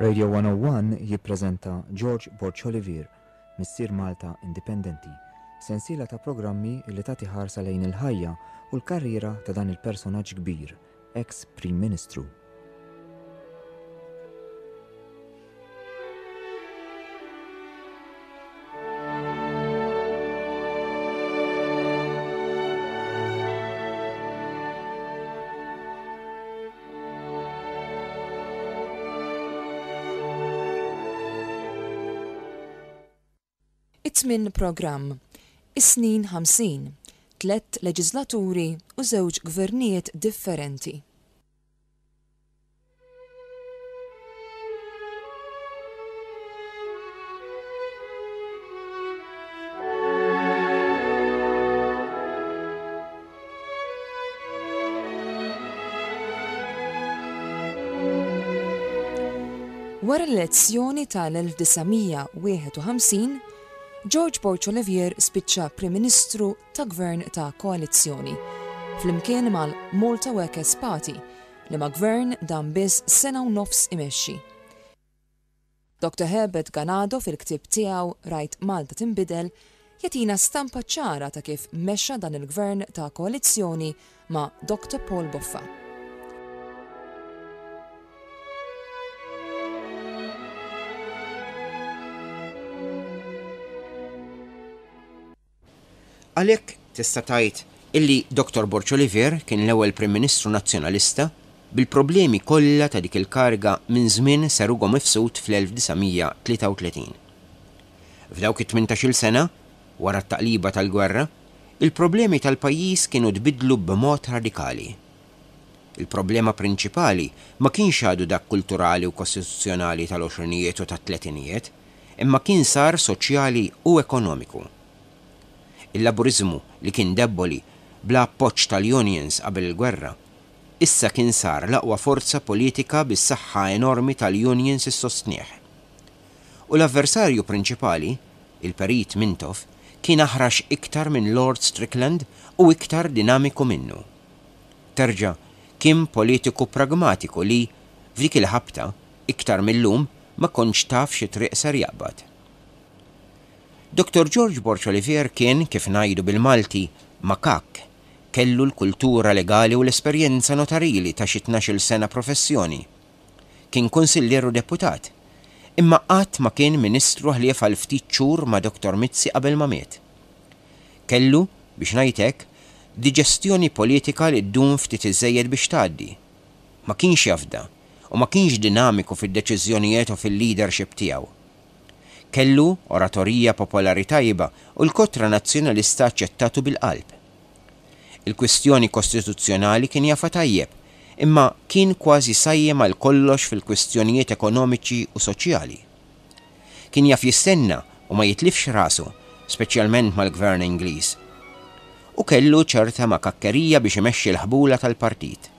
Radio 101 jippreżenta George Borg Olivier, Missier Malta Indipendenti, sensiela ta' programmi li tagħti ħarsa lejn il-ħajja u l-karriera ta' dan il-personaġġ kbir, eks Prim Ministru. It-tmien programm, Is-snin 50, tlett leġiżlaturi u żewġ gvernijiet differenti. Wara l-elezzjoni tal-1951, George Borg Olivier spiċċa Prim Ministru ta' gvern ta' koalizzjoni, flimkien mal-Malta Workers' Party, liema gvern dam biss sena u nofs imexxi. Dr Herbert Ganado fil-ktieb tiegħu Rajt Malta Tinbidel jagħtina stampa ċara ta' kif mexxa dan il-gvern ta' koalizzjoni ma' Dr Paul Boffa. Għalhekk tista' tgħid illi Dottor Borg Olivier kien l-ewwel Prim Ministru Nazzjonalista bil-problemi kollha ta' dik il-kariga minn żmien Sir Ugo Mifsud fl-1933. F'dawk it-tmintax-il sena, wara t-taqliba tal-gwerra, il-problemi tal-pajjiż kienu tbiddlu b'mod radikali. Il-problema prinċipali ma kienx għadu dak kulturali u kostituzzjonali tal-għoxrinijiet u tat-tletinijiet, imma kien sar soċjali u ekonomiku. Il-Laburiżmu li kien debboli bla appoġġ tal-unions qabel il-gwerra, issa kien sar l-aqwa forza politika bis-saħħa enormi tal-unions issostnih. U l-avversarju prinċipali, il-Perit Mintoff, kien aħrax iktar minn Lord Strickland u iktar dinamiku minnu. Terġa' kien politiku pragmatiku li, f'dik il-ħabta, iktar mil-lum, ma kontx taf xi triq ser jaqbad. Dottor George Borg Olivier kien, kif ngħidu bil-Malti, makakk, kellu l-kultura legali u l-esperjenza notarili ta' xi tnax-il sena professjoni. Kien kunsillier u deputat. Imma qatt ma kien ministru ħlief għal ftit xhur ma' Dottor Mizzi qabel ma miet. Kellu, biex ngħid hekk, diġestjoni politika li ddum ftit iżżejjed biex tgħaddi. Ma kienx jafda u ma kienx dinamiku fid-deċiżjonijiet u fil-leadership tiegħu. Kellu oratorija popolari tajba u l-kotra Nazzjonalista aċċettatu bil-qalb. Il-kwistjoni kostituzzjonali kien jafha tajjeb, imma kien kważi sajjem għal kollox fil-kwistjonijiet ekonomiċi u soċjali. Kien jaf jistenna u ma jitlifx rasu, speċjalment mal-Gvern Ingliż. U kellu ċerta makakkerija biex imexxi l-ħbula tal-partit.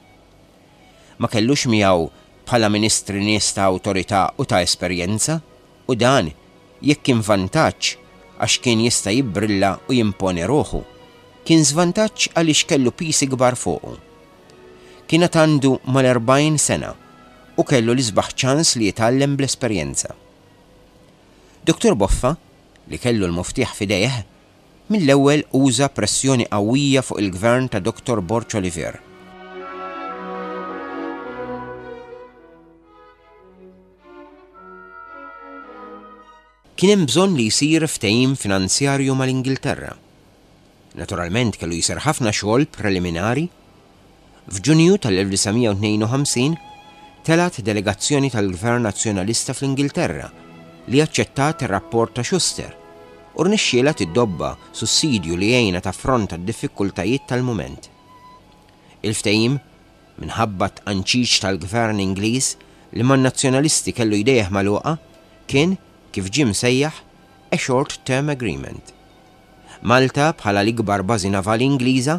Ma kellux miegħu bħala ministri nies ta' awtorità u ta' esperjenza u dan, jekk kien vantaġġ għax kien jista' jibbrilla u jimponi ruħu, kien żvantaġġ għaliex kellu piż ikbar fuqu. Kien għad għandu mal-40 sena u kellu l-isbaħ ċans li jitgħallem bl-esperjenza. Dottor Boffa, li kellu l-muftieħ f'idejh, mill-ewwel uża pressjoni qawwija fuq il-gvern ta' Dottor Borg Olivier. Kien hemm bżonn li jsir ftehim finanzjarju mal-Ingilterra. Naturalment kellu jsir ħafna xogħol preliminari. F'Ġunju tal-1952 telgħet delegazzjoni tal-Gvern Nazzjonalista fl-Ingilterra li aċċettat ir-rapport ta' Schuster u rnexxielha tiddobba sussidju li jgħinha taffronta d-diffikultajiet tal-mument. Il-ftehim, minħabba t-tqanċiċ tal-Gvern Ingliż li man-Nazzjonalisti kellu jdejh magħluqa, kien, kif ġie msejjaħ, a short term agreement. Malta, bħala l-ikbar bażi navali Ingliża,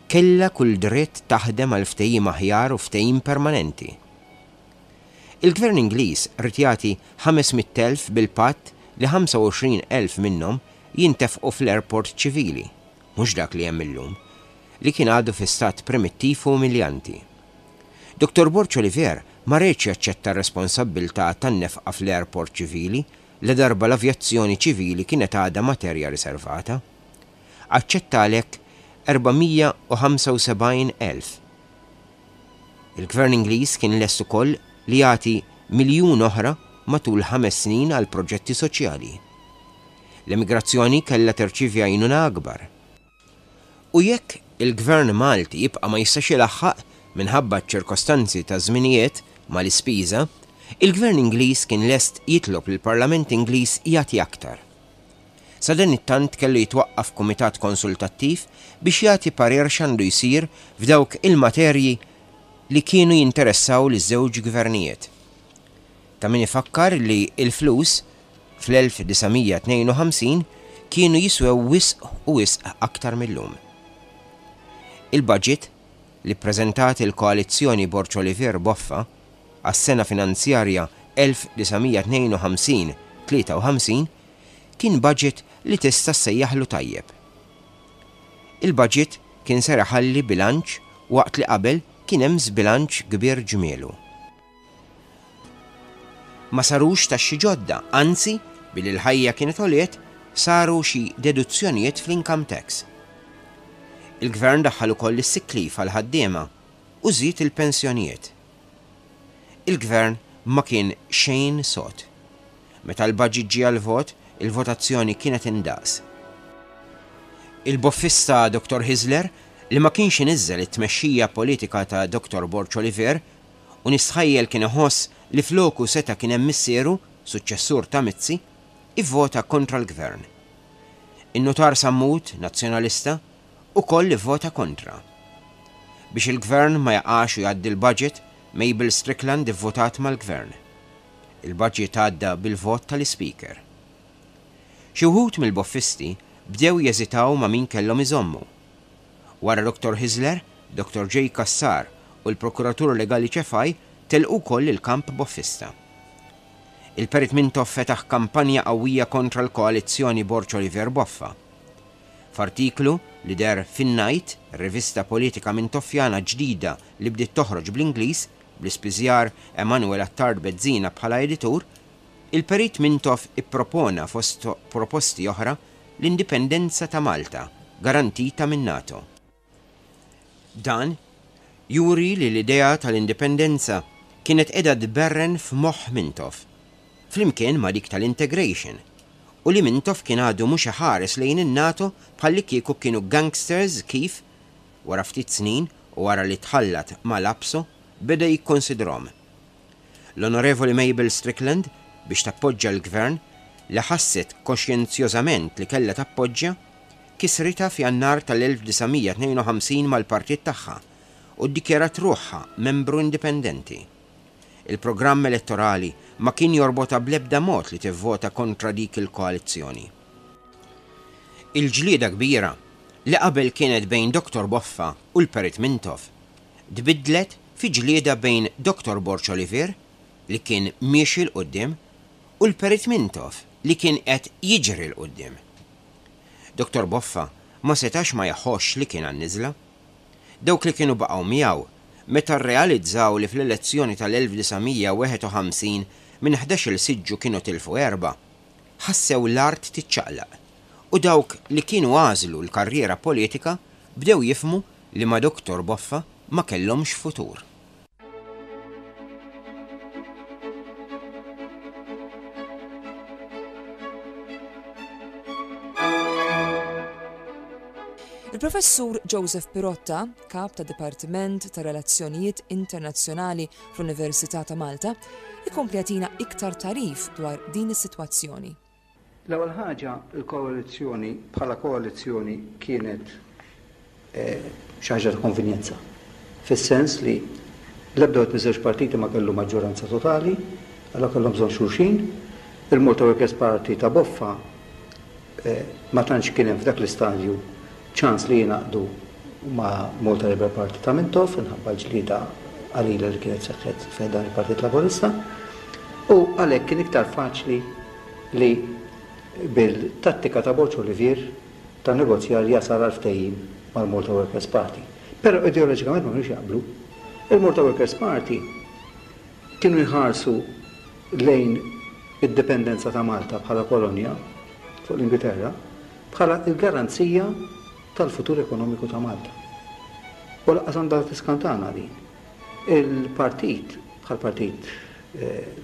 kellha kull dritt taħdem għal ftehim aħjar u ftehim permanenti. Il-Gvern Ingliż ried jagħti 500,000 bil-patt li 25,000 minnhom jintefqu fl-airport ċivili, mhux dak li hemm illum, li kien għadu fi stat primittiv u umiljanti. Dottor Borg Olivier ma riedx jaċċetta r-responsabbiltà tan-nefqa fl-airport ċivili ladarba l-avjazzjoni ċivili kienet għadha materja riservata. Aċċetta għalhekk 475,000. Il-Gvern Ingliż kien lest ukoll li jagħti miljun oħra matul ħames snin għal proġetti soċjali. L-emigrazzjoni kellha terċievi għajnuna akbar. U jekk il-Gvern Malti jibqa' ma jistax ilaħħaq, minħabba ċ-ċirkostanzi taż-żminijiet, mal-ispiża, il-Gvern Ingliż kien lest jitlob lill-Parlament Ingliż jagħti aktar. Sadanittant kellu jitwaqqaf kumitat konsultattiv biex jagħti parir x'għandu jsir f'dawk il-materji li kienu jinteressaw liż-żewġ gvernijiet. Ta' min ifakkar li l-flus fl-1952 kienu jiswew wisq u wisq aktar mil-lum. Il-budget, li ppreżentat il-koalizzjoni Borg Olivier Boffa għas-sena finanzjarja 1952 53, kien budget li tista' ssejjaħlu tajjeb. Il-budget kien ser iħalli bilanċ waqt li qabel kien hemm żbilanċ kbir ġmielu. Ma sarux taxxi ġodda, anzi, billi l-ħajja kienet għoliet, saru xi deduzzjonijiet fl-income tax. Il-Gvern daħħal ukoll is-sick leave għall-ħaddiema u żied il-pensjonijiet. Il-Gvern ma kien xejn sod. Meta l-budget ġie għall-vot, il-votazzjoni kienet indaqs. Il-boffista Dottor Hyzler, li ma kienx iniżżel it-tmexxija politika ta' Dottor Borg Olivier, u nistħajjel kien iħoss li floku seta' kien hemm missieru, suċċessur ta' Mizzi, ivvota kontra l-Gvern. In-Nutar Sammut, Nazzjonalista, ukoll ivvota kontra. Biex il-Gvern ma jaqax u jgħaddi l-budget, Mabel Strickland ivvotat mal-Gvern. Il-budget għadda bil-vot tal-Ispeaker. Xi wħud mill-boffisti bdew jeżitaw ma' min kellhom iżommu. Wara Dottor Hyzler, Dottor J. Cassar u l-Prokuratur Legali Cefai telqu wkoll il-kamp boffista. Il-Perit Mintoff fetaħ kampanja qawwija kontra l-koalizzjoni Borg Olivier Boffa. F'artiklu li deher f'In-Night, rivista politika Mintoffjana ġdida li bdiet toħroġ bl-Ingliż, bl-ispiżjar Emanuel Attard Bezzina bħala editur, il-Perit Mintoff ippropona fost proposti oħra l-indipendenza ta' Malta garantita min-NATO. Dan juri li l-idea tal-indipendenza kienet qiegħda tberren f'moħħ Mintoff, flimkien ma' dik tal-integration, u li Mintoff kien għadu mhux iħares lejn in-NATO bħallikieku kienu gangsters kif, wara ftit snin u wara li tħallat mal-APSO, beda jikkonsidrhom. L-Onorevoli Mabel Strickland, biex tappoġġa l-Gvern, li ħasset koxjenzjożament li kellha tappoġġja, kisritha f'Jannar tal-1952 mal-partit tagħha u ddikjarat ruħha membru indipendenti. Il-programm elettorali ma kien jorbotha bl-ebda mod li tivvota kontra dik il-koalizzjoni. Il-ġlieda kbira, li qabel kienet bejn Dottor Boffa u l-Perit Mintoff, tbiddlet fi ġlieda bejn Dottor Borg Olivier, li kien miexi 'l quddiem, u l-Perit Mintoff li kien qed jiġri 'l quddiem. Dottor Boffa ma setax ma jħossx li kien għan-niżla. Dawk li kienu baqgħu miegħu, meta rrealizzaw li fl-elezzjoni tal-1951 minn ħdax-il siġġu kienu tilfu erbgħa, ħassew l-art tiċċaqlaq u dawk li kienu għażlu l-karriera politika bdew jifhmu li ma' Dottor Boffa ma kellhomx futur. Il-Professur Joseph Pirotta, Kap tad-Dipartiment ta' Relazzjonijiet Internazzjonali fl-Università ta' Malta, ikompli jagħtina iktar tagħrif dwar din is-sitwazzjoni. L-ewwel ħaġa, il-koalizzjoni bħala koalizzjoni kienet xi ħaġa ta' konvenjenza. Fis-sens li l-ebda wieħed miż-żewġ partiti ma kellu maġġoranza totali, allura kellhom bżonn xulxin. Il-Malta Workers' Party ta' Boffa ma tantx kien hemm f'dak l-istadju ċans li jingħaqdu ma' Malta Labour Party ta' Mintoff minħabba l-ġlieda qalila li kienet seħħet fi ħdan il-Partit Laburista u għalhekk kien iktar faċli li bil-tattika ta' Borg Olivier ta' negozjar jasal għal ftehim mal-Malta Workers' Party. Però ideoloġikament ma kinux jaqblu. Il-Malta Workers' Party. kienu jħarsu lejn id-dipendenza ta' Malta bħala kolonja fuq l-Ingilterra bħala l-garanzija tal-futur ekonomiku ta' Malta. U lanqas għandha tiskantana din. Il-partit, bħall-Partit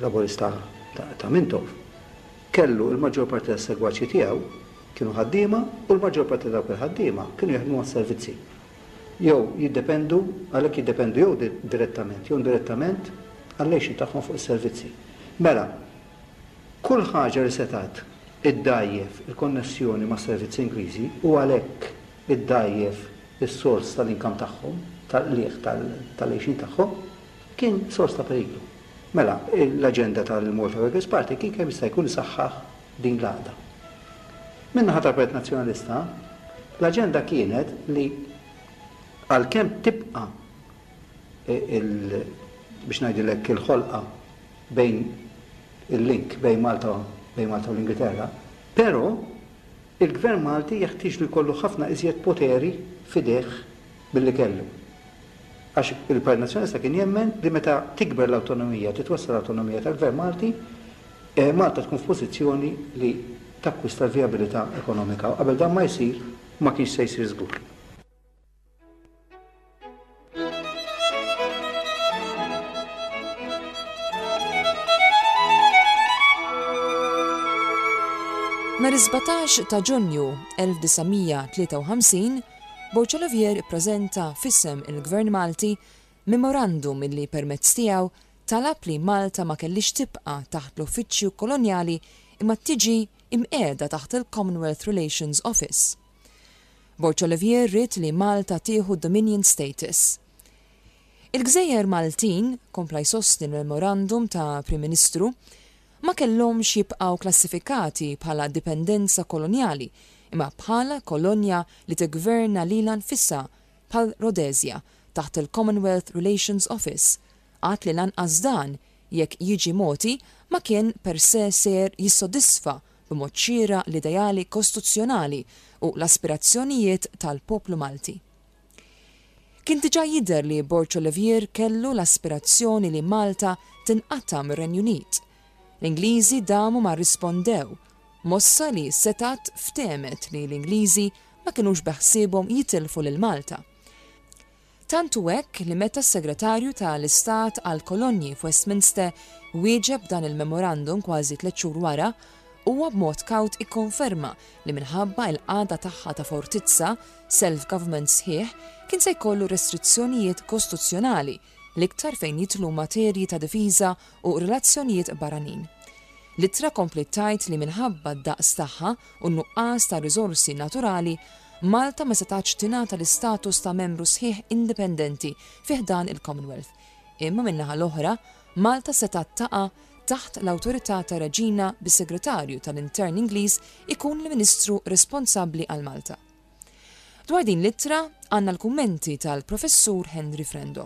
Laburista ta' Mintoff, kellu l-maġġor parti tas-segwaċi tiegħu kienu ħaddiema u l-maġġor parti ta' dawk il-ħaddiema kienu jaħdmu għas-servizzi. Jew jiddependu, għalhekk jiddependu jew direttament jew indirettament għall-għixien tagħhom fuq is-servizzi. Mela, kull ħaġa li setgħet iddgħajjef il-konnessjoni mas-servizzi Ingliżi u għalhekk iddgħajjef is-sors tal-income tagħhom, tal-qligħ tal-għixien tagħhom, kien sors ta' periklu. Mela, l-aġenda tal-Malta Workers' Party kien kemm jista' jkun isaħħaħ din l-għaqda. Min-naħa tal-Partit Nazzjonalista, l-aġenda kienet li għalkemm tibqa' il, biex ngħidilek, il-ħolqa bejn il-link bejn Malta bejn Malta u l-Ingilterra, però il-Gvern Malti jeħtieġlu jkollu ħafna iżjed poteri f'idejh milli kellu. Għax il-Partit Nazzjonalista kien jemmen li meta tikber l-awtonomija, titwessa' l-awtonomija tal-Gvern Malti, Malta tkun f'pożizzjoni li takkwista l-vijabilità ekonomika u qabel dan ma jsir, ma kienx se jsir żgur. Nhar is-17 ta' Ġunju 1953, Borg Olivier ippreżenta f'isem il-Gvern Malti memorandum illi permezz tiegħu talab li Malta ma kellhiex tibqa' taħt l-Uffiċċju Kolonjali imma tiġi imqiegħda taħt il-Commonwealth Relations Office. Borg Olivier ried li Malta tieħu d-Dominion Status. Il-gżejjer Maltin, kompla jsostni l-memorandum ta' Prim Ministru, ma kellhomx jibqgħu klassifikati bħala dipendenza kolonjali imma bħala kolonja li tiggverna lilha nfisha bħal Rhodesia taħt il-Commonwealth Relations Office, għad li lanqas dan, jekk jiġi mogħti, ma kien per se ser jissodisfa b'mod xieraq l-ideali kostuzzjonali u l-aspirazzjonijiet tal-poplu Malti. Kien diġà jidher li Borg Olivier kellu l-aspirazzjoni li Malta tinqata' mir-Renju Unit. L-Ingliżi damu ma rrispondew, mossa li setgħet ftehmet li l-Ingliżi ma kinux beħsiebhom jitilfu lil Malta. Tant hu hekk li meta s-Segretarju ta' l-Istat għall-Kolonji f'Westminster wieġeb dan il-memorandum kważi tlett xhur wara, huwa b'mod kawt ikkonferma li minħabba il-qagħda tagħha ta' fortizza, self-government sħiħ kien se jkollu restrizzjonijiet kostuzzjonali, l-iktar fejn jidħlu materji ta' difiża u relazzjonijiet barranin. L-ittra kompliet tgħid li minħabba d-daqs tagħha u n-nuqqas ta' riżorsi naturali, Malta ma setgħatx tingħata l-istatus ta' membru sħiħ indipendenti fi ħdan il-Commonwealth. Imma min-naħa l-oħra, Malta setgħet taqa' taħt l-awtorità tar-Reġina bis-Segretarju tal-Intern Ingliż ikun l-Ministru responsabbli għal Malta. Dwar din l-ittra għandna l-kummenti tal-Professur Henry Frendo.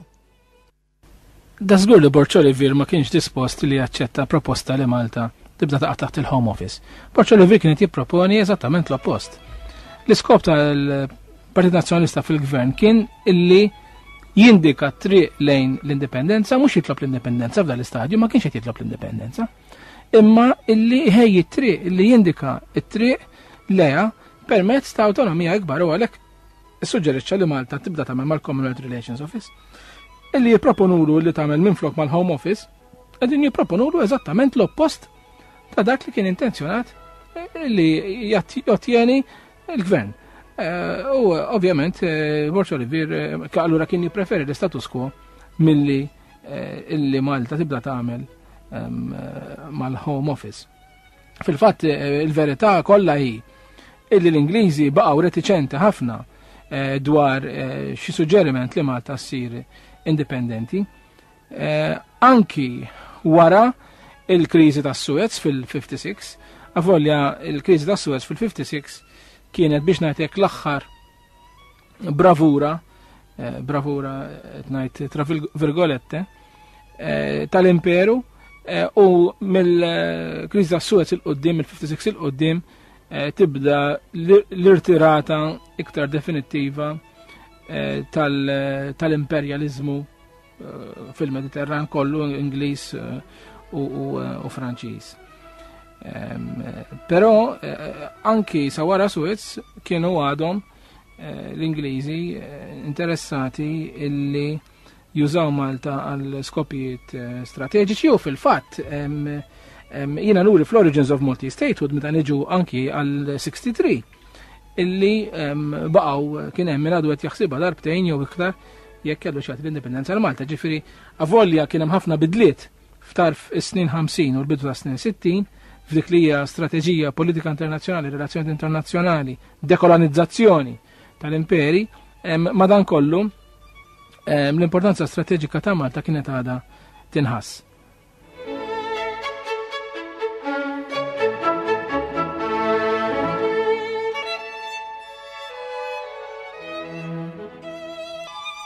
Dażgur li Borg Olivier ma kienx dispost li jaċċetta proposta li Malta tibda taqa' taħt il-Home Office. Borg Olivier kien qed jipproponi eżattament l-oppost. L-iskop tal-Partit Nazzjonalista fil-Gvern kien illi jindika triq lejn l-indipendenza, mhux jitlob l-indipendenza f'dan l-istadju, ma kienx qed jitlob l-indipendenza. Imma illi ħejji t-triq, illi jindika t-triq leha permezz ta' awtonomija ikbar u għalhekk Issuġġerixxa li Malta tibda tagħmel mal-Commonwealth Relations Office. Illi jipproponulu li tagħmel minflok mal-Home Office, qegħdin jipproponulu eżattament l-oppost ta' dak li kien intenzjonat li jottieni l-gvern. Eh, u ovvjament eh, Borg Olivier eh, allura kien jippreferi l-status quo milli illi Malta tibda tagħmel ehm, mal-Home Office. Fil-fatt il-verità kollha hi illi l-Ingliżi baqgħu retiċenti ħafna eh, dwar eh, xi suġġeriment li Malta ssir indipendenti. Eh, anki wara il-kriżi tas Suez fil-56, avolja il-kriżi tas Suez fil-56 kienet biex ngħidlek l-aħħar bravura, eh, bravura qed ngħid tra virgolette, eh, tal-imperu eh, u mill-kriżi tas Suez il-qoddim, il-56 il-qoddim, tibda l-irtirata iktar definittiva tal-imperjalizmu. fil-Mediterran kollu Ingliż u Franċiż. Però anki sa wara Suez kienu għadhom l-Ingliżi interessati illi jużaw Malta għal skopijiet eh, strateġiċi u fil-fatt jiena nuri fl-Origins of Maltese Statehood meta niġu anki għal 63 illi baqgħu kien hemm min għadu qed jaħsibha darbtejn jew iktar jekk kellu xi l-indipendenza għal Malta. Ġifieri avolja kien hemm ħafna bidliet f'tarf is-snin 50 u l-bidu ta' snin 60 f'dik li hija strateġija politika internazzjonali, relazzjoni internazzjonali, dekolonizzazzjoni tal-imperi, madankollu l-importanza strateġika ta' Malta kienet għadha tinħass.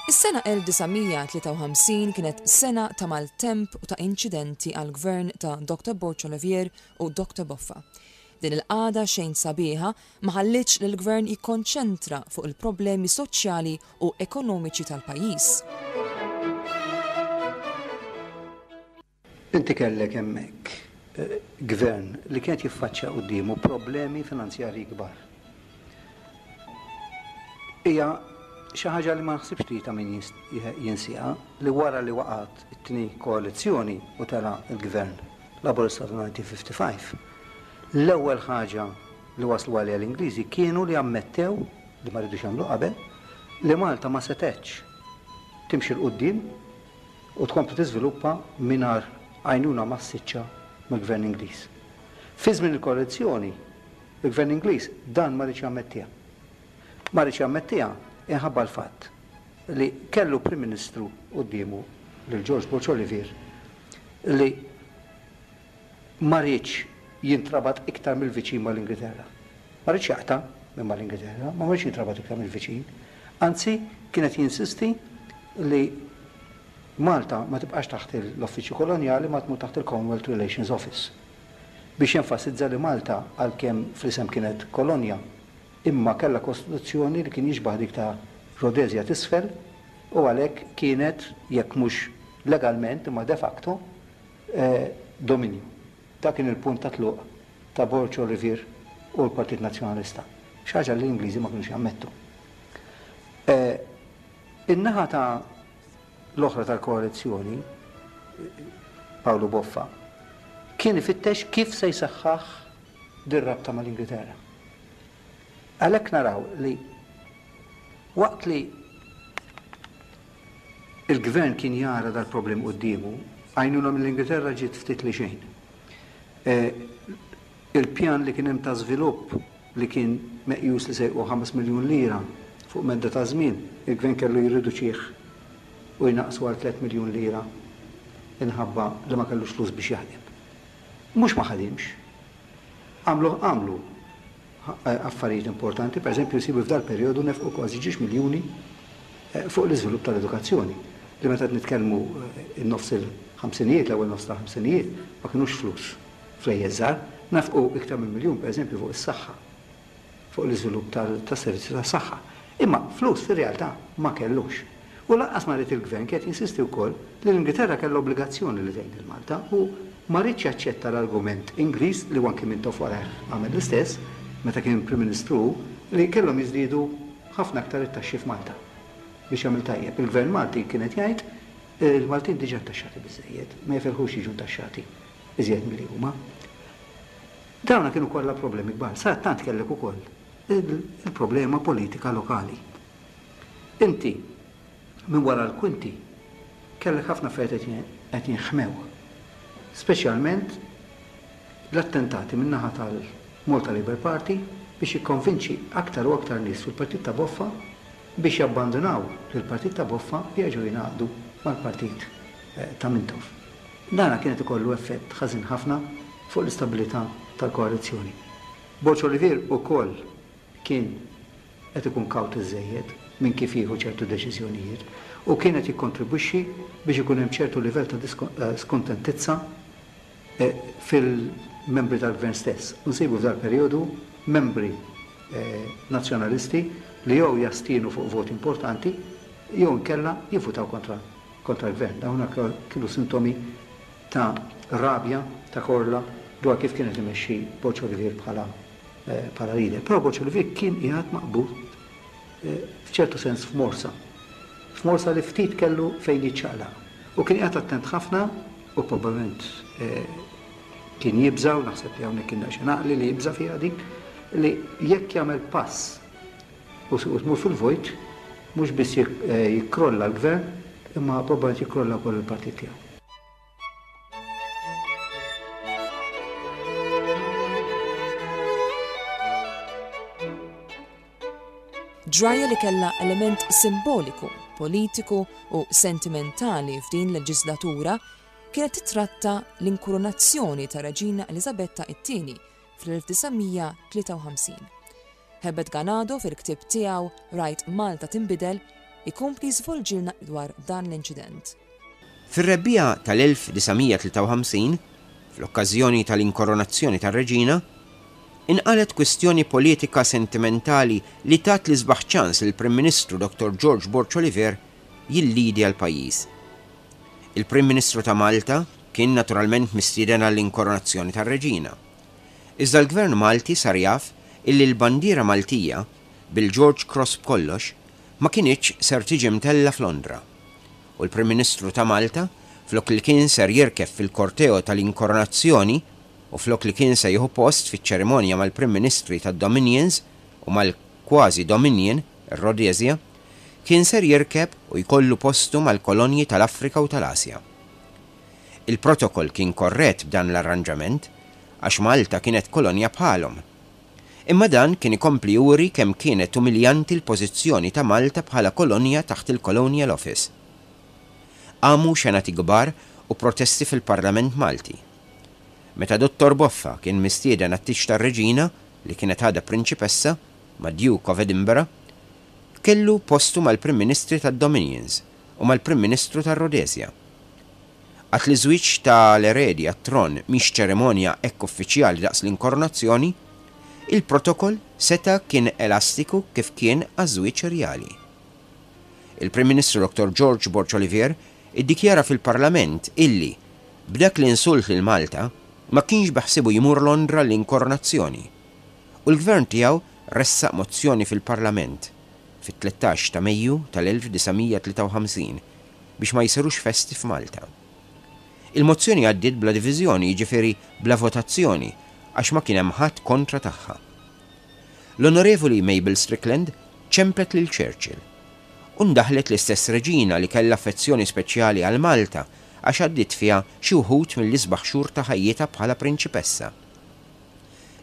Is-sena 1953 kienet sena ta' maltemp u ta' inċidenti għall-gvern ta' Dr. Borg Olivier u Dr. Boffa. Din il-qagħda xejn sabiħa ma ħallietx lill-Gvern jikkonċentra fuq il-problemi soċjali u ekonomiċi tal-pajjiż. Inti kellek hemmhekk Gvern li kien qed jiffaċċja quddiemu problemi finanzjarji kbar. Hija xi ħaġa li ma naħsibx li ta' min jinsieha li wara li waqgħet it-tieni koalizzjoni u tela' l-Gvern Laburista ta' 1955, l-ewwel ħaġa li waslu għaliha l-Ingliżi kienu li ammettew, li ma ridux jagħmlu qabel, li Malta ma setgħetx timxi 'l quddiem u tkompli tiżviluppa mingħajr għajnuna massiċċa mill-Gvern Ingliż. Fi żmien il-koalizzjoni, il-Gvern Ingliż dan ma riedx jammettiha. Ma riedx jammettiha inħabba l-fatt li kellu Prim Ministru quddiemu, lil George Borg Olivier, li ma riedx jintrabat iktar mill-viċin mal-Ingilterra. Ma riedx jaqta' minn mal-Ingilterra, ma ma riedx jintrabat iktar mill-viċin. Anzi, kien qed jinsisti li Malta ma tibqax taħt l-Uffiċċju Kolonjali ma tmur taħt il-Commonwealth Relations Office. Biex jenfasizza li Malta, għalkemm fl-isem kienet kolonja, imma kellha kostituzzjoni li kien jixbah dik ta' Rhodesia t'Isfel u għalhekk kienet, jekk mhux legalment imma de facto, dominju. Dak kien il-punt ta' tluq ta' Borg Olivier u l-Partit Nazzjonalista, xi ħaġa li l-Ingliżi ma kinux jammettu. In-naħa ta' l-oħra tal-koalizzjoni, Pawlu Boffa, kien ifittex kif se jsaħħaħ dir-rabta mal-Ingilterra. Għalhekk naraw li waqt li Il-Gvern kien jara dal-problem quddiemu, għajnuna mill-Ingilterra ġiet ftit li xejn. Il-pjan li kien hemm ta' żvilupp li kien meqjus li se jqu 5 miljun lira fuq medda ta' żmien, il-Gvern kellu jirriduċih u jnaqqsu għal 3 miljun lira inħabba li ma kellux flus biex jaħdem. Mhux ma ħadimx. Għamlu għamlu affarijiet importanti, pereżempju nsibu f'dal-perjodu nefqu kważi ġiex miljuni fuq l-iżvilupp tal-edukazzjoni, li meta qed nitkellmu n-nofs il-ħamsinijiet, l-ewwel nofs tal-ħamsinijiet, ma kinux flus flejjes żgħar, nefqu iktar minn miljun pereżempju fuq is-saħħa, fuq l-iżvilupp tas-servizzi tas-saħħa. Imma flus fir-realtà ma kellux. U lanqas ma ried il-Gvern kien qed jinsisti wkoll li l-Ingilterra kellha obbligazzjoni li tgħin lil Malta u ma riedx jaċċetta l-argument Ingliż, li anki Mintoff warajh għamel l-istess, meta kien Prim Ministru hu, li kellhom jiżdiedu ħafna aktar it-taxxi f'Malta biex jagħmel tajjeb. Il-Gvern Malti kien qed jgħid il-Maltin diġà ntaxxati biżżejjed, ma jifilħux jiġu ntaxxati iżjed milli huma. Dawna kienu kollha problemi kbar. Sadattant kellek ukoll il-problema politika lokali. Inti, minn wara l-kwinti, kellek ħafna affarijiet qed jinħmew. Speċjalment l-attentati min-naħa tal-Malta Labour Party biex jikkonvinċi aktar u aktar nies fil-Partit ta' Boffa biex jabbandunaw lill-Partit ta' Boffa u jerġgħu jingħaqdu mal-Partit ta' Mintoff. Dana kien qed ikollu effett ħażin ħafna fuq l-istabilità tal-koalizzjoni. Borg Olivier ukoll kien qed ikun kawt iżżejjed minn kif jieħu ċertu deċiżjonijiet u kien qed jikkontribwixxi biex ikun hemm ċertu livell ta' skuntentizza fil-membri tal-Gvern stess. U nsibu f'dal-perjodu membri Nazzjonalisti li jew jastienu fuq voti importanti jew inkella jivvutaw kontra. kontra l-gvern. Dawn kienu sintomi ta' rabja, ta' korla dwar kif kien qed imexxi Borg Olivier bħala bħala leader. Però Borg Olivier kien qiegħed maqbud f'ċertu sens f'morsa. F'morsa li ftit kellu fejn jiċċaqlaq. U kien qiegħed attent ħafna u probabbilment kien jibża' u naħseb li hawnhekk kien daqsxejn għaqli li jibża' fiha din, li jekk jagħmel pass u tmur fil-vojt, mhux biss jikkrolla l-gvern, imma probabbilment jikkrolla wkoll il-partit tiegħu. Ġrajja li kellha element simboliku, politiku u sentimentali f'din l-leġislatura kienet titratta l-inkurunazzjoni ta' Reġina Eliżabetta it-Tieni fl-1953. Herbert Ganado fil-ktieb tiegħu Rajt Malta Tinbidel ikompli jiżvolġilna dwar dan l-inċident. Fir-rebbiegħa tal-1953, fl-okkażjoni tal-inkoronazzjoni tar-Reġina, inqalgħet kwistjoni politika sentimentali li tat l-isbaħ ċans lill-Prim Ministru Dottor George Borg Olivier jillidja l-pajjiż. Il-Prim Ministru ta' Malta kien naturalment mistieden għall-inkoronazzjoni tar-Reġina. Iżda l-Gvern Malti sar jaf illi l-bandiera Maltija, bil-George Cross b'kollox, ma kinitx ser tiġi mtellgħa f'Londra. U l-Prim Ministru ta' Malta, flok li kien ser jirkeb fil-korteo tal-inkoronazzjoni u flok li kien se jieħu post fiċ-ċerimonja mal-Prim Ministri tad-Dominions u mal-kważi Dominion, ir-Rhodesia, kien ser jirkeb u jkollu postu mal-kolonji tal-Afrika u tal-Asja. Il-protokoll kien korrett b'dan l-arranġament, għax Malta kienet kolonja bħalhom. Imma dan kien ikompli juri kemm kienet umiljanti l-pożizzjoni ta' Malta bħala kolonja taħt il-Colonial Office. Qamu xenati kbar u protesti fil-Parlament Malti. Meta Dottor Boffa kien mistieden għat-tieġ tar-Reġina, li kienet għadha prinċipessa, mad-Duke of Edinburgh, kellu postu mal-Prim Ministri tad-Dominions u mal-Prim Ministru tar-Rhodesia. Għad li ż-żwieġ ta' l-eredi għat-tron mhix ċerimonja hekk uffiċjali daqs l-inkoronazzjoni, il-protokoll seta' kien elastiku kif kien għaż-żwieġ rjali. Il-Prim Ministru Dottor George Borg Olivier iddikjara fil-Parlament illi, b'dak l-insult lil Malta, ma kienx beħsiebu jmur Londra għall-inkoronazzjoni u l-Gvern tiegħu ressaq mozzjoni fil-Parlament fit-13 ta' Mejju tal-1953 biex ma jsirux festi f'Malta. Il-mozzjoni għaddiet bla diviżjoni, jiġifieri bla votazzjoni, għax ma kien hemm ħadd kontra tagħha. L-Onorevoli Mabel Strickland ċemplet lil Churchill. U ndaħlet l-istess Reġina li kellha affezzjoni speċjali għal Malta għax għaddiet fiha xi wħud mill-isbaħ xhur ta' ħajjitha bħala prinċipessa.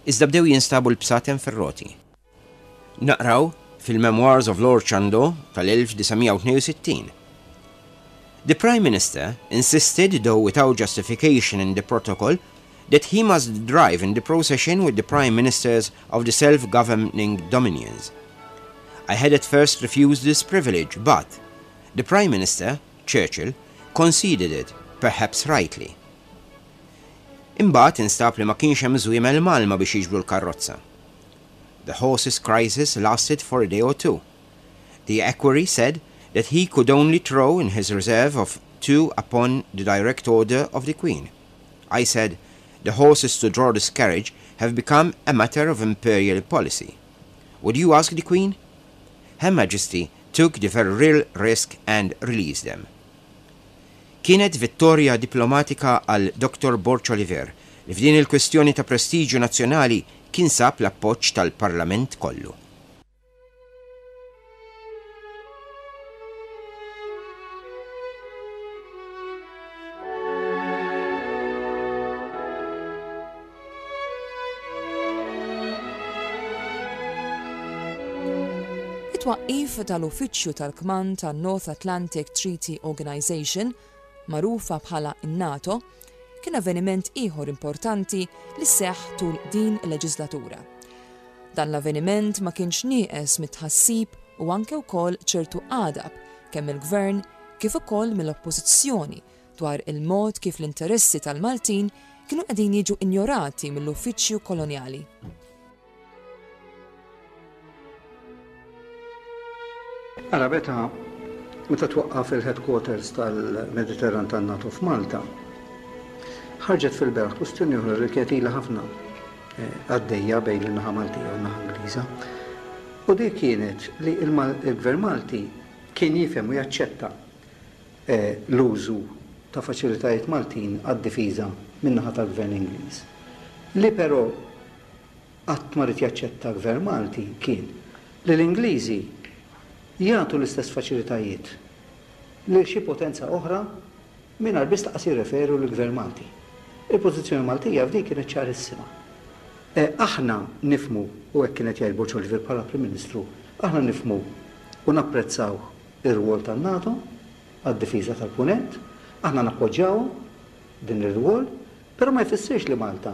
Iżda bdew jinstabu l-bsaten fir-roti. Naqraw fil-Memoirs of Lord Chandos tal-1962. The Prime Minister insisted, though without justification in the protocol, that he must drive in the procession with the Prime Ministers of the self-governing dominions. I had at first refused this privilege, but the Prime Minister, Churchill, conceded it, perhaps rightly. Imbagħad instab li ma kienx hemm żwiemel mgħallma biex jiġbdu l-karrozza. The horses crisis lasted for a day or two. The equerry said that he could only throw in his reserve of two upon the direct order of the Queen. I said, the horses to draw this carriage have become a matter of imperial policy. Would you ask the Queen? Her Majesty took the very real risk and released them. Kienet vittorja diplomatika għal Dottor Borg Olivier li f'din il-kwistjoni ta' prestiġju nazzjonali kien sab l-appoġġ tal-Parlament kollu. It-twaqqif tal-Uffiċċju tal-Kmand tan-North Atlantic Treaty Organization, magħrufa bħala n-NATO, kien avveniment ieħor importanti li seħħ tul din il-leġislatura. Dan l-avveniment ma kienx nieqes mit-tħassib u anke wkoll ċertu għadab kemm mill-Gvern kif ukoll mill-Oppożizzjoni dwar il-mod kif l-interessi tal-Maltin kienu qegħdin jiġu injorati mill-uffiċċju kolonjali. Ara meta Meta twaqqaf il-headquarters tal-Mediterran tan-NATO f'Malta, ħarġet fil-beraħ kwistjoni oħra li kienet ilha ħafna għaddejja bejn in-naħa Maltija u n-naħa Ingliża. U dik kienet li l-Gvern Malti kien jifhem u jaċċetta l-użu ta' faċilitajiet Maltin għad-difiża min-naħa tal-Gvern Ingliż. Li però qatt ma ried jaċċetta l-Gvern Malti kien li l-Ingliżi jagħtu l-istess faċilitajiet lil xi potenza oħra mingħajr biss lanqas jirreferu lill-Gvern Malti. Il-pożizzjoni Maltija f'din kienet ċarissima. Aħna nifhmu, u hekk kien qed jgħid Borg Olivier bħala Prim Ministru, aħna nifhmu u napprezzaw ir-rwol tan-NATO għad-difiża tal-Punent, aħna nappoġġjawhom din ir-rwol, però ma jfissirx li Malta